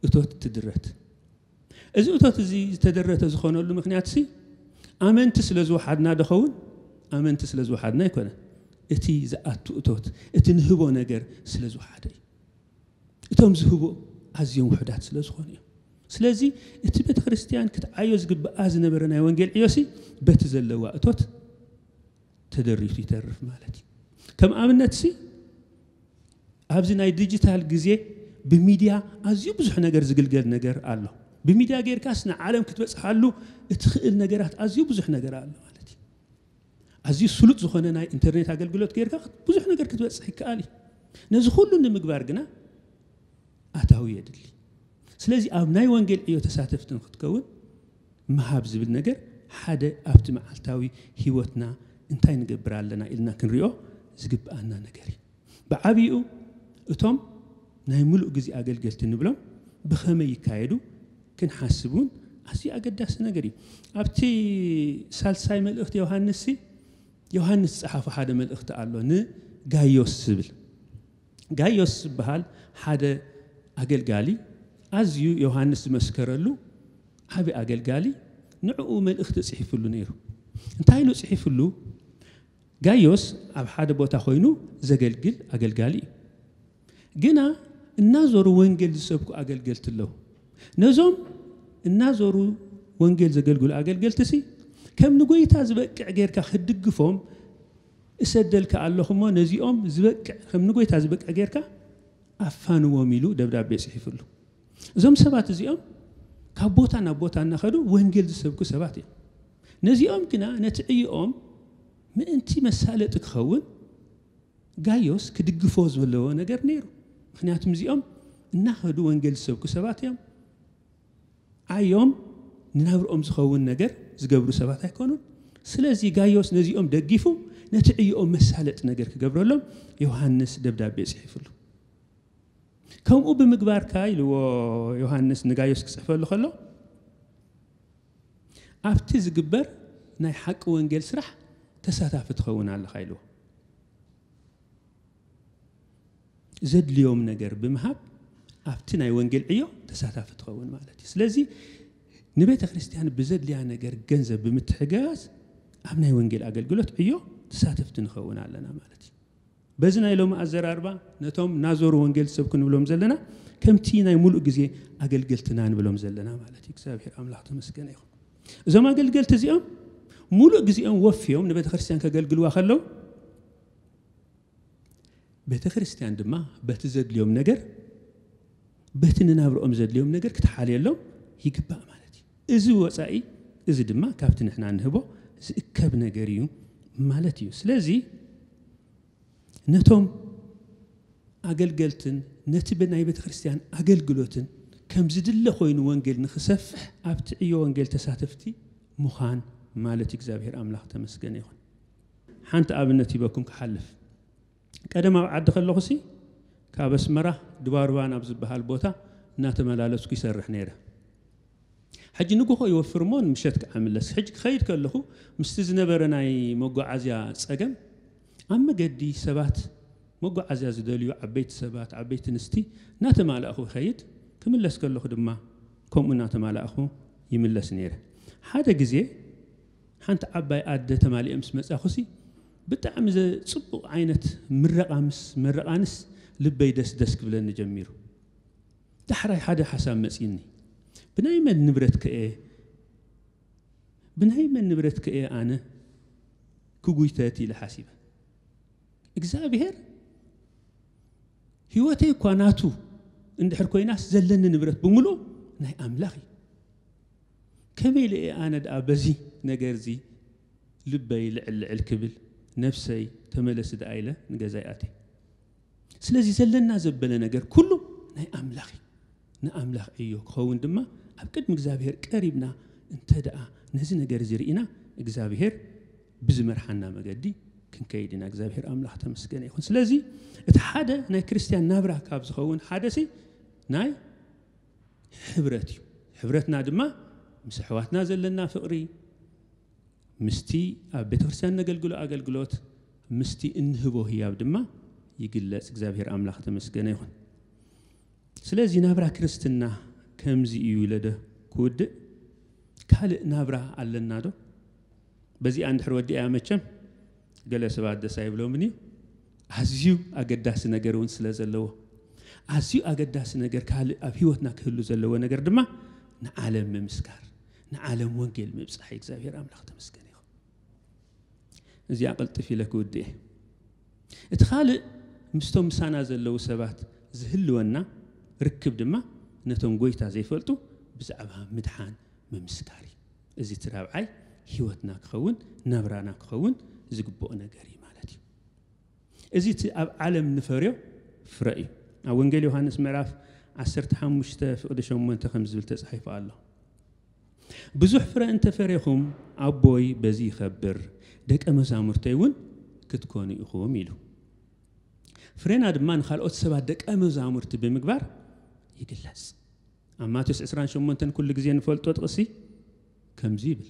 እቶት ትድረት። እዚ እቶት እዚ ዝተደረተ ዝኾነሉ ምክንያት ሲ ኣመንቲ ስለ ዝወሓድና ዶ ኸውን? ኣመንቲ ስለ ዝወሓድና ኣይኮነን። እቲ ዝኣቱ እቶት፣ እቲ ንህቦ ነገር ስለ ዝወሓደ እዩ። እቶም ዝህቡ ኣዝዮም ውሑዳት ስለ ዝኾኑ እዮም። ስለዚ እቲ ቤተ ክርስቲያን ክትዓዮ ዝግብኣ ዝነበረ ናይ ወንጌል ዕዮሲ በቲ ዘለዋ እቶት ተደሪቱ ይተርፍ ማለት እዩ። ከም ኣብነት ሲ ኣብዚ ናይ ዲጂታል ግዜ ብሚድያ ኣዝዩ ብዙሕ ነገር ዝግልገል ነገር ኣሎ። ብሚድያ ጌርካስ ንዓለም ክትበጽሓሉ እትኽእል ነገራት ኣዝዩ ብዙሕ ነገር ኣሎ ማለት እዩ። ኣዝዩ ስሉጥ ዝኾነ ናይ ኢንተርኔት ኣገልግሎት ጌርካ ብዙሕ ነገር ክትበጽሕ ይከኣል እዩ። ነዚ ኩሉ ንምግባር ግና ኣታዊ የድሊ። ስለዚ ኣብ ናይ ወንጌል ዕዮ ተሳተፍቲ ንክትከውን ምሃብ ዝብል ነገር ሓደ ኣብቲ መዓልታዊ ህይወትና እንታይ ንገብር ኣለና ኢልና ክንሪኦ ዝግብኣና ነገር እዩ። ብዓቢኡ እቶም ናይ ምሉእ ግዜ ኣገልገልቲ ንብሎም ብኸመይ ይካየዱ ክንሓስብ እውን ኣዝዩ ኣገዳሲ ነገር እዩ። ኣብቲ ሳልሳይ መልእኽቲ ዮሃንስ ሲ ዮሃንስ ዝጸሓፎ ሓደ መልእኽቲ ኣሎ ንጋዮስ ዝብል። ጋዮስ ዝበሃል ሓደ ኣገልጋሊ ኣዝዩ ዮሃንስ ዝመስከረሉ ዓቢ ኣገልጋሊ ንዕኡ መልእኽቲ ጽሒፍሉ ነይሩ። እንታይ ኢሉ ጽሒፍሉ? ጋዮስ ኣብ ሓደ ቦታ ኮይኑ ዘገልግል ኣገልጋሊ እዩ። ግና እናዞሩ ወንጌል ዝሰብኩ ኣገልገልቲ ኣለዉ። ነዞም እናዞሩ ወንጌል ዘገልግሉ ኣገልገልቲ ሲ ከም ንጎይታ ዝበቅዕ ጌርካ ክትድግፎም እሰደልካ ኣለኹ እሞ ነዚኦም ዝበቅዕ ከም ንጎይታ ዝበቅዕ ጌርካ ኣፋንዎም ኢሉ ደብዳቤ ጽሒፍሉ። እዞም ሰባት እዚኦም ካብ ቦታ ናብ ቦታ እናኸዱ ወንጌል ዝሰብኩ ሰባት እዮም። ነዚኦም ግና ነቲ ዕዮኦም ምእንቲ መሳለጢ ክኸውን ጋዮስ ክድግፎ ዘለዎ ነገር ነይሩ። ምክንያቱም እዚኦም እናኸዱ ወንጌል ዝሰብኩ ሰባት እዮም። ዓዮም ንናብርኦም ዝኸውን ነገር ዝገብሩ ሰባት ኣይኮኑን። ስለዚ ጋዮስ ነዚኦም ደጊፉ ነቲ ዕዮኦም መሳለጢ ነገር ክገብረሎም ዮሃንስ ደብዳቤ ጽሒፍሉ። ከምኡ ብምግባርካ ኢልዎ ዮሃንስ ንጋዮስ ክጽሕፈሉ ከሎ ኣብቲ ዝግበር ናይ ሓቂ ወንጌል ስራሕ ተሳታፊ ትኸውን ኣለኻ ኢልዎ። ዘድልዮም ነገር ብምሃብ ኣብቲ ናይ ወንጌል ዕዮ ተሳታፊ ትኸውን ማለት እዩ። ስለዚ ንቤተ ክርስቲያን ብዘድልያ ነገር ገንዘብ ብምትሕግጋዝ ኣብ ናይ ወንጌል ኣገልግሎት ዕዮ ተሳተፍቲ ንኸውን ኣለና ማለት እዩ። በዚ ናይ ሎሚ ኣዘራርባ ነቶም ናዞሩ ወንጌል ሰብ ክንብሎም ዘለና ከምቲ ናይ ሙሉእ ግዜ ኣገልገልትና ንብሎም ዘለና ማለት እዩ። እግዚኣብሔር ኣምላኽ ተመስገነ ይኹን። እዞም ኣገልገልቲ እዚኦም ሙሉእ ግዜኦም ወፍዮም ንቤተ ክርስቲያን ከገልግልዋ ከለዉ፣ ቤተ ክርስቲያን ድማ በቲ ዘድልዮም ነገር፣ በቲ ንናብርኦም ዘድልዮም ነገር ክትሓልየሎም ይግባእ ማለት እዩ። እዚ ወፃኢ፣ እዚ ድማ ካብቲ ንሕና ንህቦ ዝእከብ ነገር እዩ ማለት እዩ። ስለዚ ነቶም ኣገልገልትን ነቲ ብናይ ቤተ ክርስቲያን ኣገልግሎትን ከም ዝድለ ኮይኑ ወንጌል ንክሰፍሕ ኣብቲ ዕዮ ወንጌል ተሳተፍቲ ምዃን ማለት እዩ። እግዚኣብሔር ኣምላኽ ተመስገነ ይኹን። ሓንቲ ኣብነት ሂበኩም ክሓልፍ። ቀደም ኣብ ዓዲ ከለኹሲ ካብ ኣስመራ ድባርባ ናብ ዝበሃል ቦታ እናተመላለስኩ ይሰርሕ ነይረ። ሕጂ ንግሆ ይወፍር እሞ ንምሸት ከዓ ምለስ። ሕጂ ክኸይድ ከለኹ ምስቲ ዝነበረ ናይ መጓዓዝያ ጸገም ኣብ መገዲ ሰባት መጓዓዝያ ዝደልዩ ዓበይቲ ሰባት ዓበይቲ ኣንስቲ እናተማላእኹ ይኸይድ፣ ክምለስ ከለኹ ድማ ከምኡ እናተማላእኹ ይምለስ ነይረ። ሓደ ግዜ ሓንቲ ዓባይ ኣደ ተማሊኤ ምስ መጻኹሲ ብጣዕሚ ዘጽቡቕ ዓይነት ምረቓ ምስ መረቓንስ ልበይ ደስ ደስ ክብለኒ ጀሚሩ። ዳሕራይ ሓደ ሓሳብ መጺኒ። ብናይ መን ንብረት ከ እየ ብናይ መን ንብረት ከ እየ ኣነ ክጉይተት ኢለ ሓሲበ። እግዚኣብሔር ህይወተይ እኳ ናቱ እንድሕር ኮይናስ ዘለኒ ንብረት ብምሉእ ናይ ኣምላኽ እዩ። ከመይ ኢለ እየ ኣነ ደኣ በዚ ነገር እዚ ልበይ ልዕል ልዕል ክብል ነፍሰይ ተመለሲ ደኣ ኢለ ንገዛይ ኣትየ። ስለዚ ዘለና ዘበለ ነገር ኩሉ ናይ ኣምላኽ እዩ። ንኣምላኽ ዕዮ ክኸውን ድማ ኣብ ቅድሚ እግዚኣብሔር ቀሪብና እንተ ደኣ ነዚ ነገር እዚ ርኢና እግዚኣብሔር ብዝመርሓና መገዲ ክንከይድ ኢና። እግዚኣብሔር ኣምላኽ ተመስገነ ይኹን። ስለዚ እቲ ሓደ ናይ ክርስትያን ናብራ ካብ ዝኸውን ሓደ ሲ ናይ ሕብረት እዩ። ሕብረትና ድማ ምስ ኣሕዋትና ዘለና ፍቕሪ፣ ምስቲ ኣብ ቤተ ክርስቲያን ነገልግሎ ኣገልግሎት፣ ምስቲ እንህቦ ህያብ ድማ ይግለጽ። እግዚኣብሔር ኣምላኽ ተመስገነ ይኹን። ስለዚ ናብራ ክርስትና ከምዚ እዩ ኢለ ዶ ክውድእ? ካልእ ናብራ ኣለና ዶ? በዚኣ እንድሕር ወዲኣ መቸም ገለ ሰባት ደስ ኣይብሎምን እዩ። ኣዝዩ ኣገዳሲ ነገር እውን ስለ ዘለዎ፣ ኣዝዩ ኣገዳሲ ነገር ካልእ ኣብ ህይወትና ክህሉ ዘለዎ ነገር ድማ ንዓለም ምምስካር፣ ንዓለም ወንጌል ምብጻሕ እዩ። እግዚኣብሔር ኣምላኽ ተመስገን ይኹን። እዚኣ ቅልጥፍ ኢለ ክውድእ እየ። እቲ ካልእ ምስቶም ምሳና ዘለዉ ሰባት ዝህልወና ርክብ ድማ ነቶም ጎይታ ዘይፈልጡ ብዛዕባ ምድሓን ምምስካር እዩ። እዚ እቲ ራብዓይ ህይወትና ክኸውን ናብራና ክኸውን ዝግብኦ ነገር እዩ ማለት እዩ። እዚ እቲ ኣብ ዓለም ንፈርዮ ፍረ እዩ። ኣብ ወንጌል ዮሃንስ ምዕራፍ ዓሰርተ ሓሙሽተ ፍቕዲ ሸሞንተ ከም ዝብል ተጻሒፉ ኣሎ። ብዙሕ ፍረ እንተፈሬኹም ኣቦይ በዚ ይኸብር፣ ደቀ መዛሙርተይ እውን ክትኮኑ ኢኹም ኢሉ። ፍሬና ድማ ንኻልኦት ሰባት ደቀ መዛሙርቲ ብምግባር ይግለጽ። ኣብ ማቴዎስ ዕስራን ሸሞንተን ኩሉ ግዜ ንፈልጦ ጥቕሲ ከምዚ ይብል፣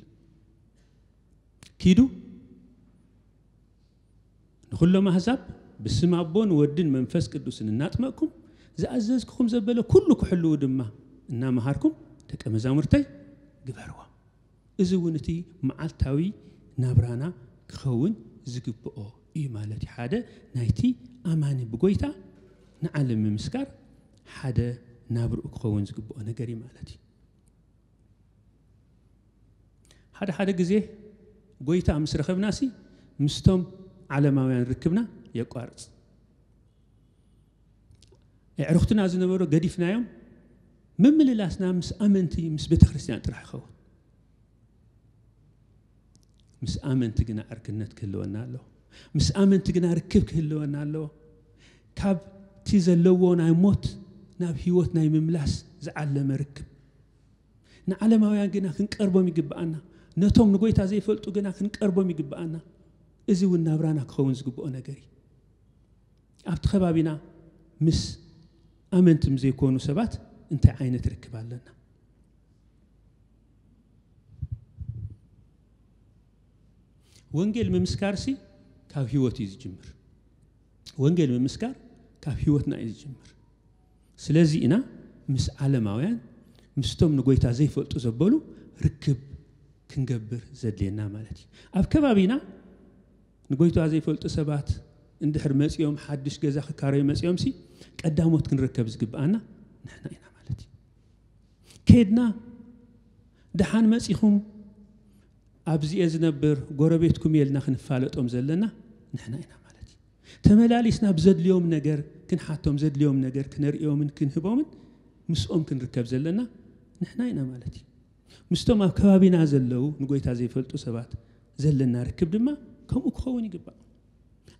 ኪዱ ንኹሎም ኣህዛብ ብስም ኣቦን ወድን መንፈስ ቅዱስን እናጥመቅኩም ዝኣዘዝኩኹም ዘበለ ኩሉ ክሕልዉ ድማ እናመሃርኩም ደቀ መዛሙርተይ ግበርዎም። እዚ እውን እቲ መዓልታዊ ናብራና ክኸውን ዝግብኦ እዩ ማለት እዩ። ሓደ ናይቲ ኣማኒ ብጎይታ ንዓለም ምምስካር ሓደ ናብርኡ ክኸውን ዝግብኦ ነገር እዩ ማለት እዩ። ሓደ ሓደ ግዜ ጎይታ ምስ ረኸብናሲ ምስቶም ዓለማውያን ርክብና የቋርጽ። ኣዕሩኽትና ዝነበሩ ገዲፍናዮም ምምልላስና ምስ ኣመንቲ ምስ ቤተ ክርስቲያን ጥራሕ ይኸውን። ምስ ኣመንቲ ግና ዕርክነት ክህልወና ኣለዎ። ምስ ኣመንቲ ግና ርክብ ክህልወና ኣለዎ። ካብቲ ዘለዎ ናይ ሞት ናብ ህይወት ናይ ምምላስ ዝዓለመ ርክብ። ንዓለማውያን ግና ክንቀርቦም ይግብኣና። ነቶም ንጎይታ ዘይፈልጡ ግና ክንቀርቦም ይግብኣና። እዚ እውን ናብራና ክኸውን ዝግብኦ ነገር እዩ። ኣብቲ ከባቢና ምስ ኣመንትም ዘይኮኑ ሰባት እንታይ ዓይነት ርክብ ኣለና? ወንጌል ምምስካርሲ ካብ ህይወት እዩ ዝጅምር። ወንጌል ምምስካር ካብ ህይወትና እዩ ዝጅምር። ስለዚ ኢና ምስ ዓለማውያን ምስቶም ንጎይታ ዘይፈልጡ ዘበሉ ርክብ ክንገብር ዘድልየና ማለት እዩ። ኣብ ከባቢና ንጎይታ ዘይፈልጡ ሰባት እንድሕር መጺኦም ሓድሽ ገዛ ክካረዩ መጺኦም ሲ ቀዳሞት ክንርከብ ዝግብኣና ንሕና ኢና ማለት እዩ። ከድና ደሓን መጺኹም ኣብዚኤ ዝነብር ጎረቤትኩም እየ ኢልና ክንፋለጦም ዘለና ንሕና ኢና ማለት እዩ። ተመላሊስና ብዘድልዮም ነገር ክንሓቶም፣ ዘድልዮም ነገር ክነርእዮምን ክንህቦምን ምስኦም ክንርከብ ዘለና ንሕና ኢና ማለት እዩ። ምስቶም ኣብ ከባቢና ዘለዉ ንጎይታ ዘይፈልጡ ሰባት ዘለና ርክብ ድማ ከምኡ ክኸውን ይግባእ።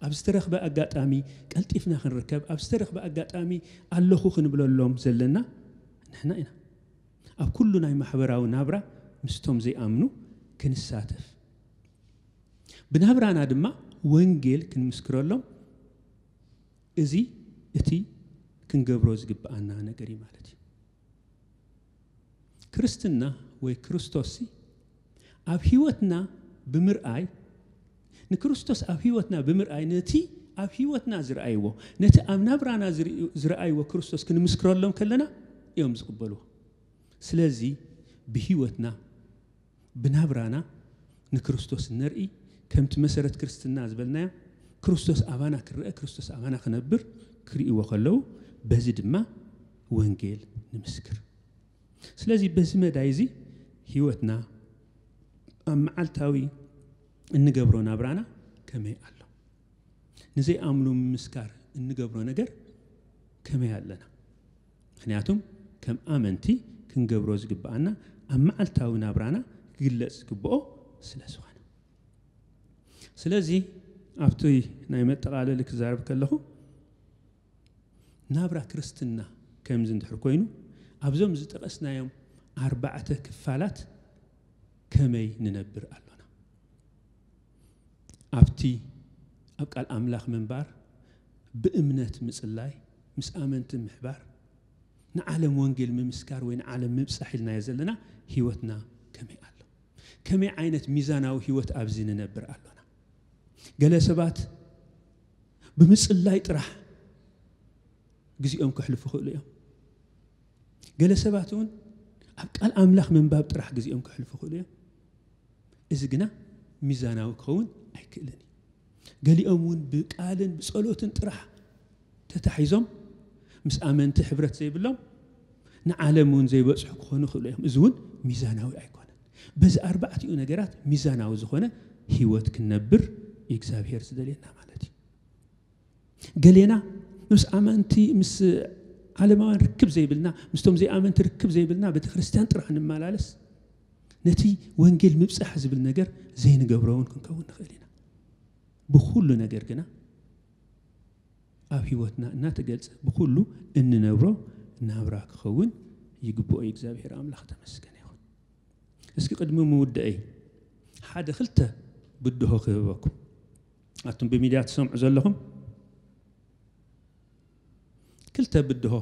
ኣብ ዝተረኽበ ኣጋጣሚ ቀልጢፍና ክንርከብ፣ ኣብ ዝተረኽበ ኣጋጣሚ ኣለኹ ክንብለሎም ዘለና ንሕና ኢና። ኣብ ኩሉ ናይ ማሕበራዊ ናብራ ምስቶም ዘይኣምኑ ክንሳተፍ፣ ብናብራና ድማ ወንጌል ክንምስክረሎም፣ እዚ እቲ ክንገብሮ ዝግብኣና ነገር እዩ ማለት እዩ። ክርስትና ወይ ክርስቶስሲ ኣብ ህይወትና ብምርኣይ፣ ንክርስቶስ ኣብ ህይወትና ብምርኣይ፣ ነቲ ኣብ ህይወትና ዝረኣይዎ፣ ነቲ ኣብ ናብራና ዝርእዩ- ዝረኣይዎ ክርስቶስ ክንምስክረሎም ከለና እዮም ዝቕበልዎ። ስለዚ ብህይወትና፣ ብናብራና ንክርስቶስ ነርኢ፣ ከምቲ መሰረት ክርስትና ዝበልናዮ ክርስቶስ ኣባና ክረአ፣ ክርስቶስ ኣባና ክነብር ክርእይዎ ከለዉ፣ በዚ ድማ ወንጌል ንምስክር። ስለዚ በዚ መዳይ እዚ ህይወትና ኣብ መዓልታዊ እንገብሮ ናብራና ከመይ ኣሎ? ንዘይኣምኑ ምምስካር እንገብሮ ነገር ከመይ ኣለና? ምክንያቱም ከም ኣመንቲ ክንገብሮ ዝግብኣና ኣብ መዓልታዊ ናብራና ክግለጽ ዝግብኦ ስለ ዝኾነ። ስለዚ ኣብቲ ናይ መጠቓለሊ ክዛረብ ከለኹ፣ ናብራ ክርስትና ከምዚ እንድሕር ኮይኑ፣ ኣብዞም ዝጠቐስናዮም ኣርባዕተ ክፋላት ከመይ ንነብር ኣሎና? ኣብቲ ኣብ ቃል ኣምላኽ ምንባር፣ ብእምነት ምጽላይ፣ ምስ ኣመንቲ ምሕባር፣ ንዓለም ወንጌል ምምስካር ወይ ንዓለም ምብጻሕ ኢልናዮ ዘለና ህይወትና ከመይ ኣሎ? ከመይ ዓይነት ሚዛናዊ ህይወት ኣብዚ ንነብር ኣሎና? ገለ ሰባት ብምጽላይ ጥራሕ ግዜኦም ከሕልፉ ይኽእሉ እዮም። ገለ ሰባት እውን ኣብ ቃል ኣምላኽ ምንባብ ጥራሕ ግዜኦም ከሕልፉ ይኽእሉ እዮም። እዚ ግና ሚዛናዊ ክኸውን ኣይክእልን እዩ። ገሊኦም እውን ብቃልን ብጸሎትን ጥራሕ ተታሒዞም ምስ ኣመንቲ ሕብረት ዘይብሎም ንዓለም እውን ዘይበጽሑ ክኾኑ ይኽእሉ እዮም። እዚ እውን ሚዛናዊ ኣይኮነን። በዚ ኣርባዕቲኡ ነገራት ሚዛናዊ ዝኾነ ህይወት ክንነብር እዩ እግዚኣብሔር ዝደልየና ማለት እዩ። ገሌና ምስ ኣመንቲ፣ ምስ ዓለማውያን ርክብ ዘይብልና፣ ምስቶም ዘይኣመንቲ ርክብ ዘይብልና፣ ቤተ ክርስቲያን ጥራሕ ንመላለስ፣ ነቲ ወንጌል ምብጻሕ ዝብል ነገር ዘይንገብሮ እውን ክንከውን ንኽእል ኢና። ብኹሉ ነገር ግና ኣብ ህይወትና እናተገልጸ ብኹሉ እንነብሮ ናብራ ክኸውን ይግብኦ እዩ። እግዚኣብሔር ኣምላኽ ተመስገን ይኹን። እስኪ ቅድሚ ምውደአይ ሓደ ክልተ ብድሆ ክህበኩም። ኣቱም ብሚድያ ትሰምዑ ዘለኹም፣ ክልተ ብድሆ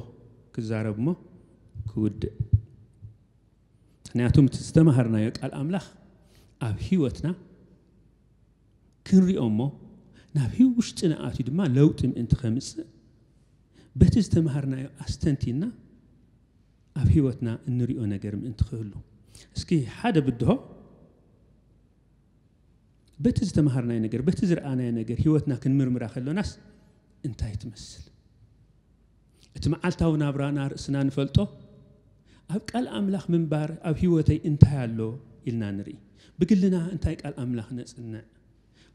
ክዛረብ እሞ ክውድእ። ምክንያቱም እቲ ዝተማሃርናዮ ቃል ኣምላኽ ኣብ ህይወትና ክንሪኦ እሞ ናብ ህይ- ውሽጥና ኣትዩ ድማ ለውጢ ምእንቲ ከምጽእ በቲ ዝተማሃርናዮ ኣስተንቲና ኣብ ህይወትና እንሪኦ ነገር ምእንቲ ክህሉ። እስኪ ሓደ ብድሆ በቲ ዝተማሃርናዮ ነገር፣ በቲ ዝረኣናዮ ነገር ህይወትና ክንምርምራ ከሎናስ እንታይ ትመስል? እቲ መዓልታዊ ናብራና ርእስና ንፈልጦ፣ ኣብ ቃል ኣምላኽ ምንባር ኣብ ህይወተይ እንታይ ኣሎ ኢልና ንርኢ። ብግልና እንታይ ቃል ኣምላኽ ነጽንዕ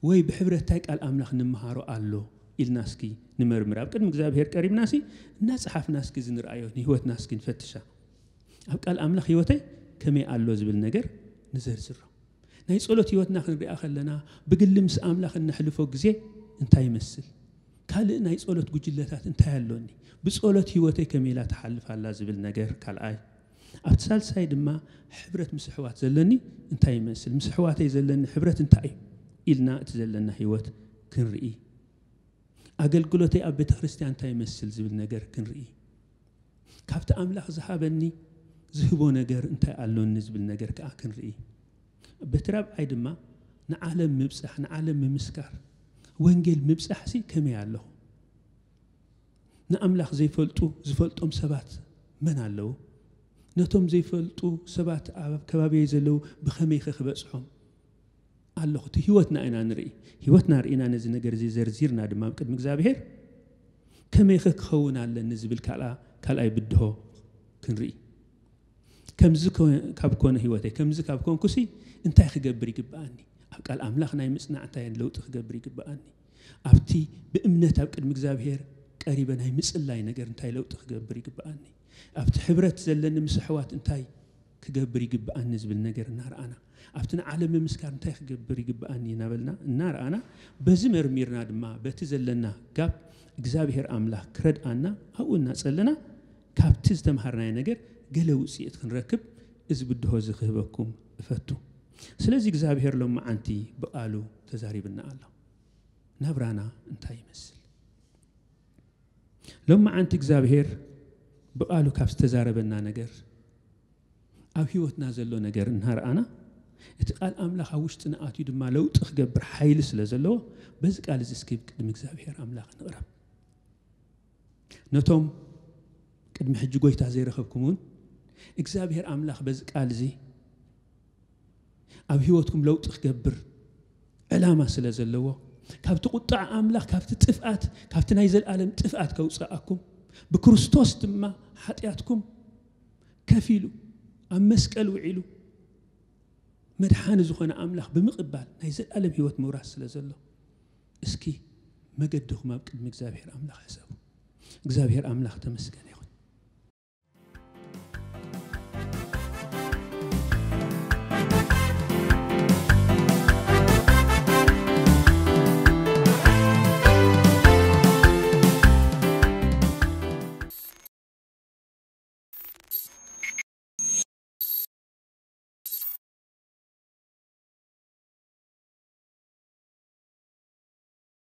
ወይ ብሕብረት እንታይ ቃል ኣምላኽ ንምሃሮ ኣሎ ኢልና እስኪ ንመርምር። ኣብ ቅድሚ እግዚኣብሔር ቀሪብና ሲ እናጸሓፍና እስኪ ዝንርኣዮ ንህይወትና እስኪ ንፈትሻ። ኣብ ቃል ኣምላኽ ህይወተይ ከመይ ኣሎ ዝብል ነገር ንዘርዝሮ። ናይ ጸሎት ህይወትና ክንሪኣ ከለና ብግሊ ምስ ኣምላኽ እነሕልፎ ግዜ እንታይ ይመስል? ካልእ ናይ ጸሎት ጉጅለታት እንታይ ኣሎኒ? ብጸሎት ህይወተይ ከመይ ኢላ ትሓልፍ ኣላ ዝብል ነገር ካልኣይ። ኣብቲ ሳልሳይ ድማ ሕብረት ምስ ኣሕዋት ዘለኒ እንታይ ይመስል? ምስ ኣሕዋተይ ዘለኒ ሕብረት እንታይ እዩ? ኢልና እቲ ዘለና ህይወት ክንርኢ። ኣገልግሎተይ ኣብ ቤተ ክርስቲያን እንታይ ይመስል ዝብል ነገር ክንርኢ። ካብቲ ኣምላኽ ዝሃበኒ ዝህቦ ነገር እንታይ ኣሎኒ ዝብል ነገር ከኣ ክንርኢ። በቲ ራብዓይ ድማ ንዓለም ምብጻሕ፣ ንዓለም ምምስካር፣ ወንጌል ምብጻሕሲ ከመይ ኣለኹ? ንኣምላኽ ዘይፈልጡ ዝፈልጦም ሰባት መን ኣለዉ? ነቶም ዘይፈልጡ ሰባት ኣብ ከባቢየይ ዘለዉ ብኸመይኸ ክበጽሖም ኣለኹ? እቲ ህይወትና ኢና ንርኢ። ህይወትና ርኢና ነዚ ነገር እዚ ዘርዚርና ድማ ኣብ ቅድሚ እግዚኣብሔር ከመይኸ ክኸውን ኣለኒ ዝብል ካልኣ ካልኣይ ብድሆ ክንርኢ። ከምዚ ከ- ካብ ኮነ ህይወተይ፣ ከምዚ ካብ ኮንኩሲ እንታይ ክገብር ይግብኣኒ? ኣብ ቃል ኣምላኽ ናይ ምጽናዕ እንታይ ለውጢ ክገብር ይግብኣኒ? ኣብቲ ብእምነት ኣብ ቅድሚ እግዚኣብሔር ቀሪበ ናይ ምጽላይ ነገር እንታይ ለውጢ ክገብር ይግብኣኒ? ኣብቲ ሕብረት ዘለኒ ምስ ኣሕዋት እንታይ ክገብር ይግብኣኒ ዝብል ነገር እናረኣና፣ ኣብቲ ንዓለም ምምስካር እንታይ ክገብር ይግብኣኒ እናበልና እናረኣና፣ በዚ መርሚርና ድማ በቲ ዘለና ጋብ እግዚኣብሔር ኣምላኽ ክረድኣና ኣብኡ እናጸለና ካብቲ ዝተምሃርናዮ ነገር ገለ ውጽኢት ክንረክብ እዚ ብድሆ እዚ ክህበኩም እፈቱ። ስለዚ እግዚኣብሔር ሎመዓንቲ ብቓሉ ተዛሪብና ኣሎ። ናብራና እንታይ ይመስል? ሎመዓንቲ እግዚኣብሔር ብቓሉ ካብ ዝተዛረበና ነገር፣ ኣብ ህይወትና ዘሎ ነገር እናረኣና፣ እቲ ቃል ኣምላኽ ኣብ ውሽጥና ኣትዩ ድማ ለውጢ ክገብር ሓይሊ ስለ ዘለዎ፣ በዚ ቃል እዚ እስኪ ቅድሚ እግዚኣብሔር ኣምላኽ ንቕረብ። ነቶም ቅድሚ ሕጂ ጎይታ ዘይረኸብኩም እውን እግዚኣብሔር ኣምላኽ በዚ ቃል እዚ ኣብ ህይወትኩም ለውጢ ክገብር ዕላማ ስለ ዘለዎ፣ ካብቲ ቁጣዕ ኣምላኽ፣ ካብቲ ጥፍኣት፣ ካብቲ ናይ ዘለኣለም ጥፍኣት ከውፅኣኩም፣ ብክርስቶስ ድማ ሓጢኣትኩም ከፊሉ ኣብ መስቀል ውዒሉ መድሓኒ ዝኾነ ኣምላኽ ብምቕባል ናይ ዘለኣለም ህይወት ምውራስ ስለ ዘሎ፣ እስኪ መገድኹም ኣብ ቅድሚ እግዚኣብሔር ኣምላኽ ሕሰቡ። እግዚኣብሔር ኣምላኽ ተመስገነ።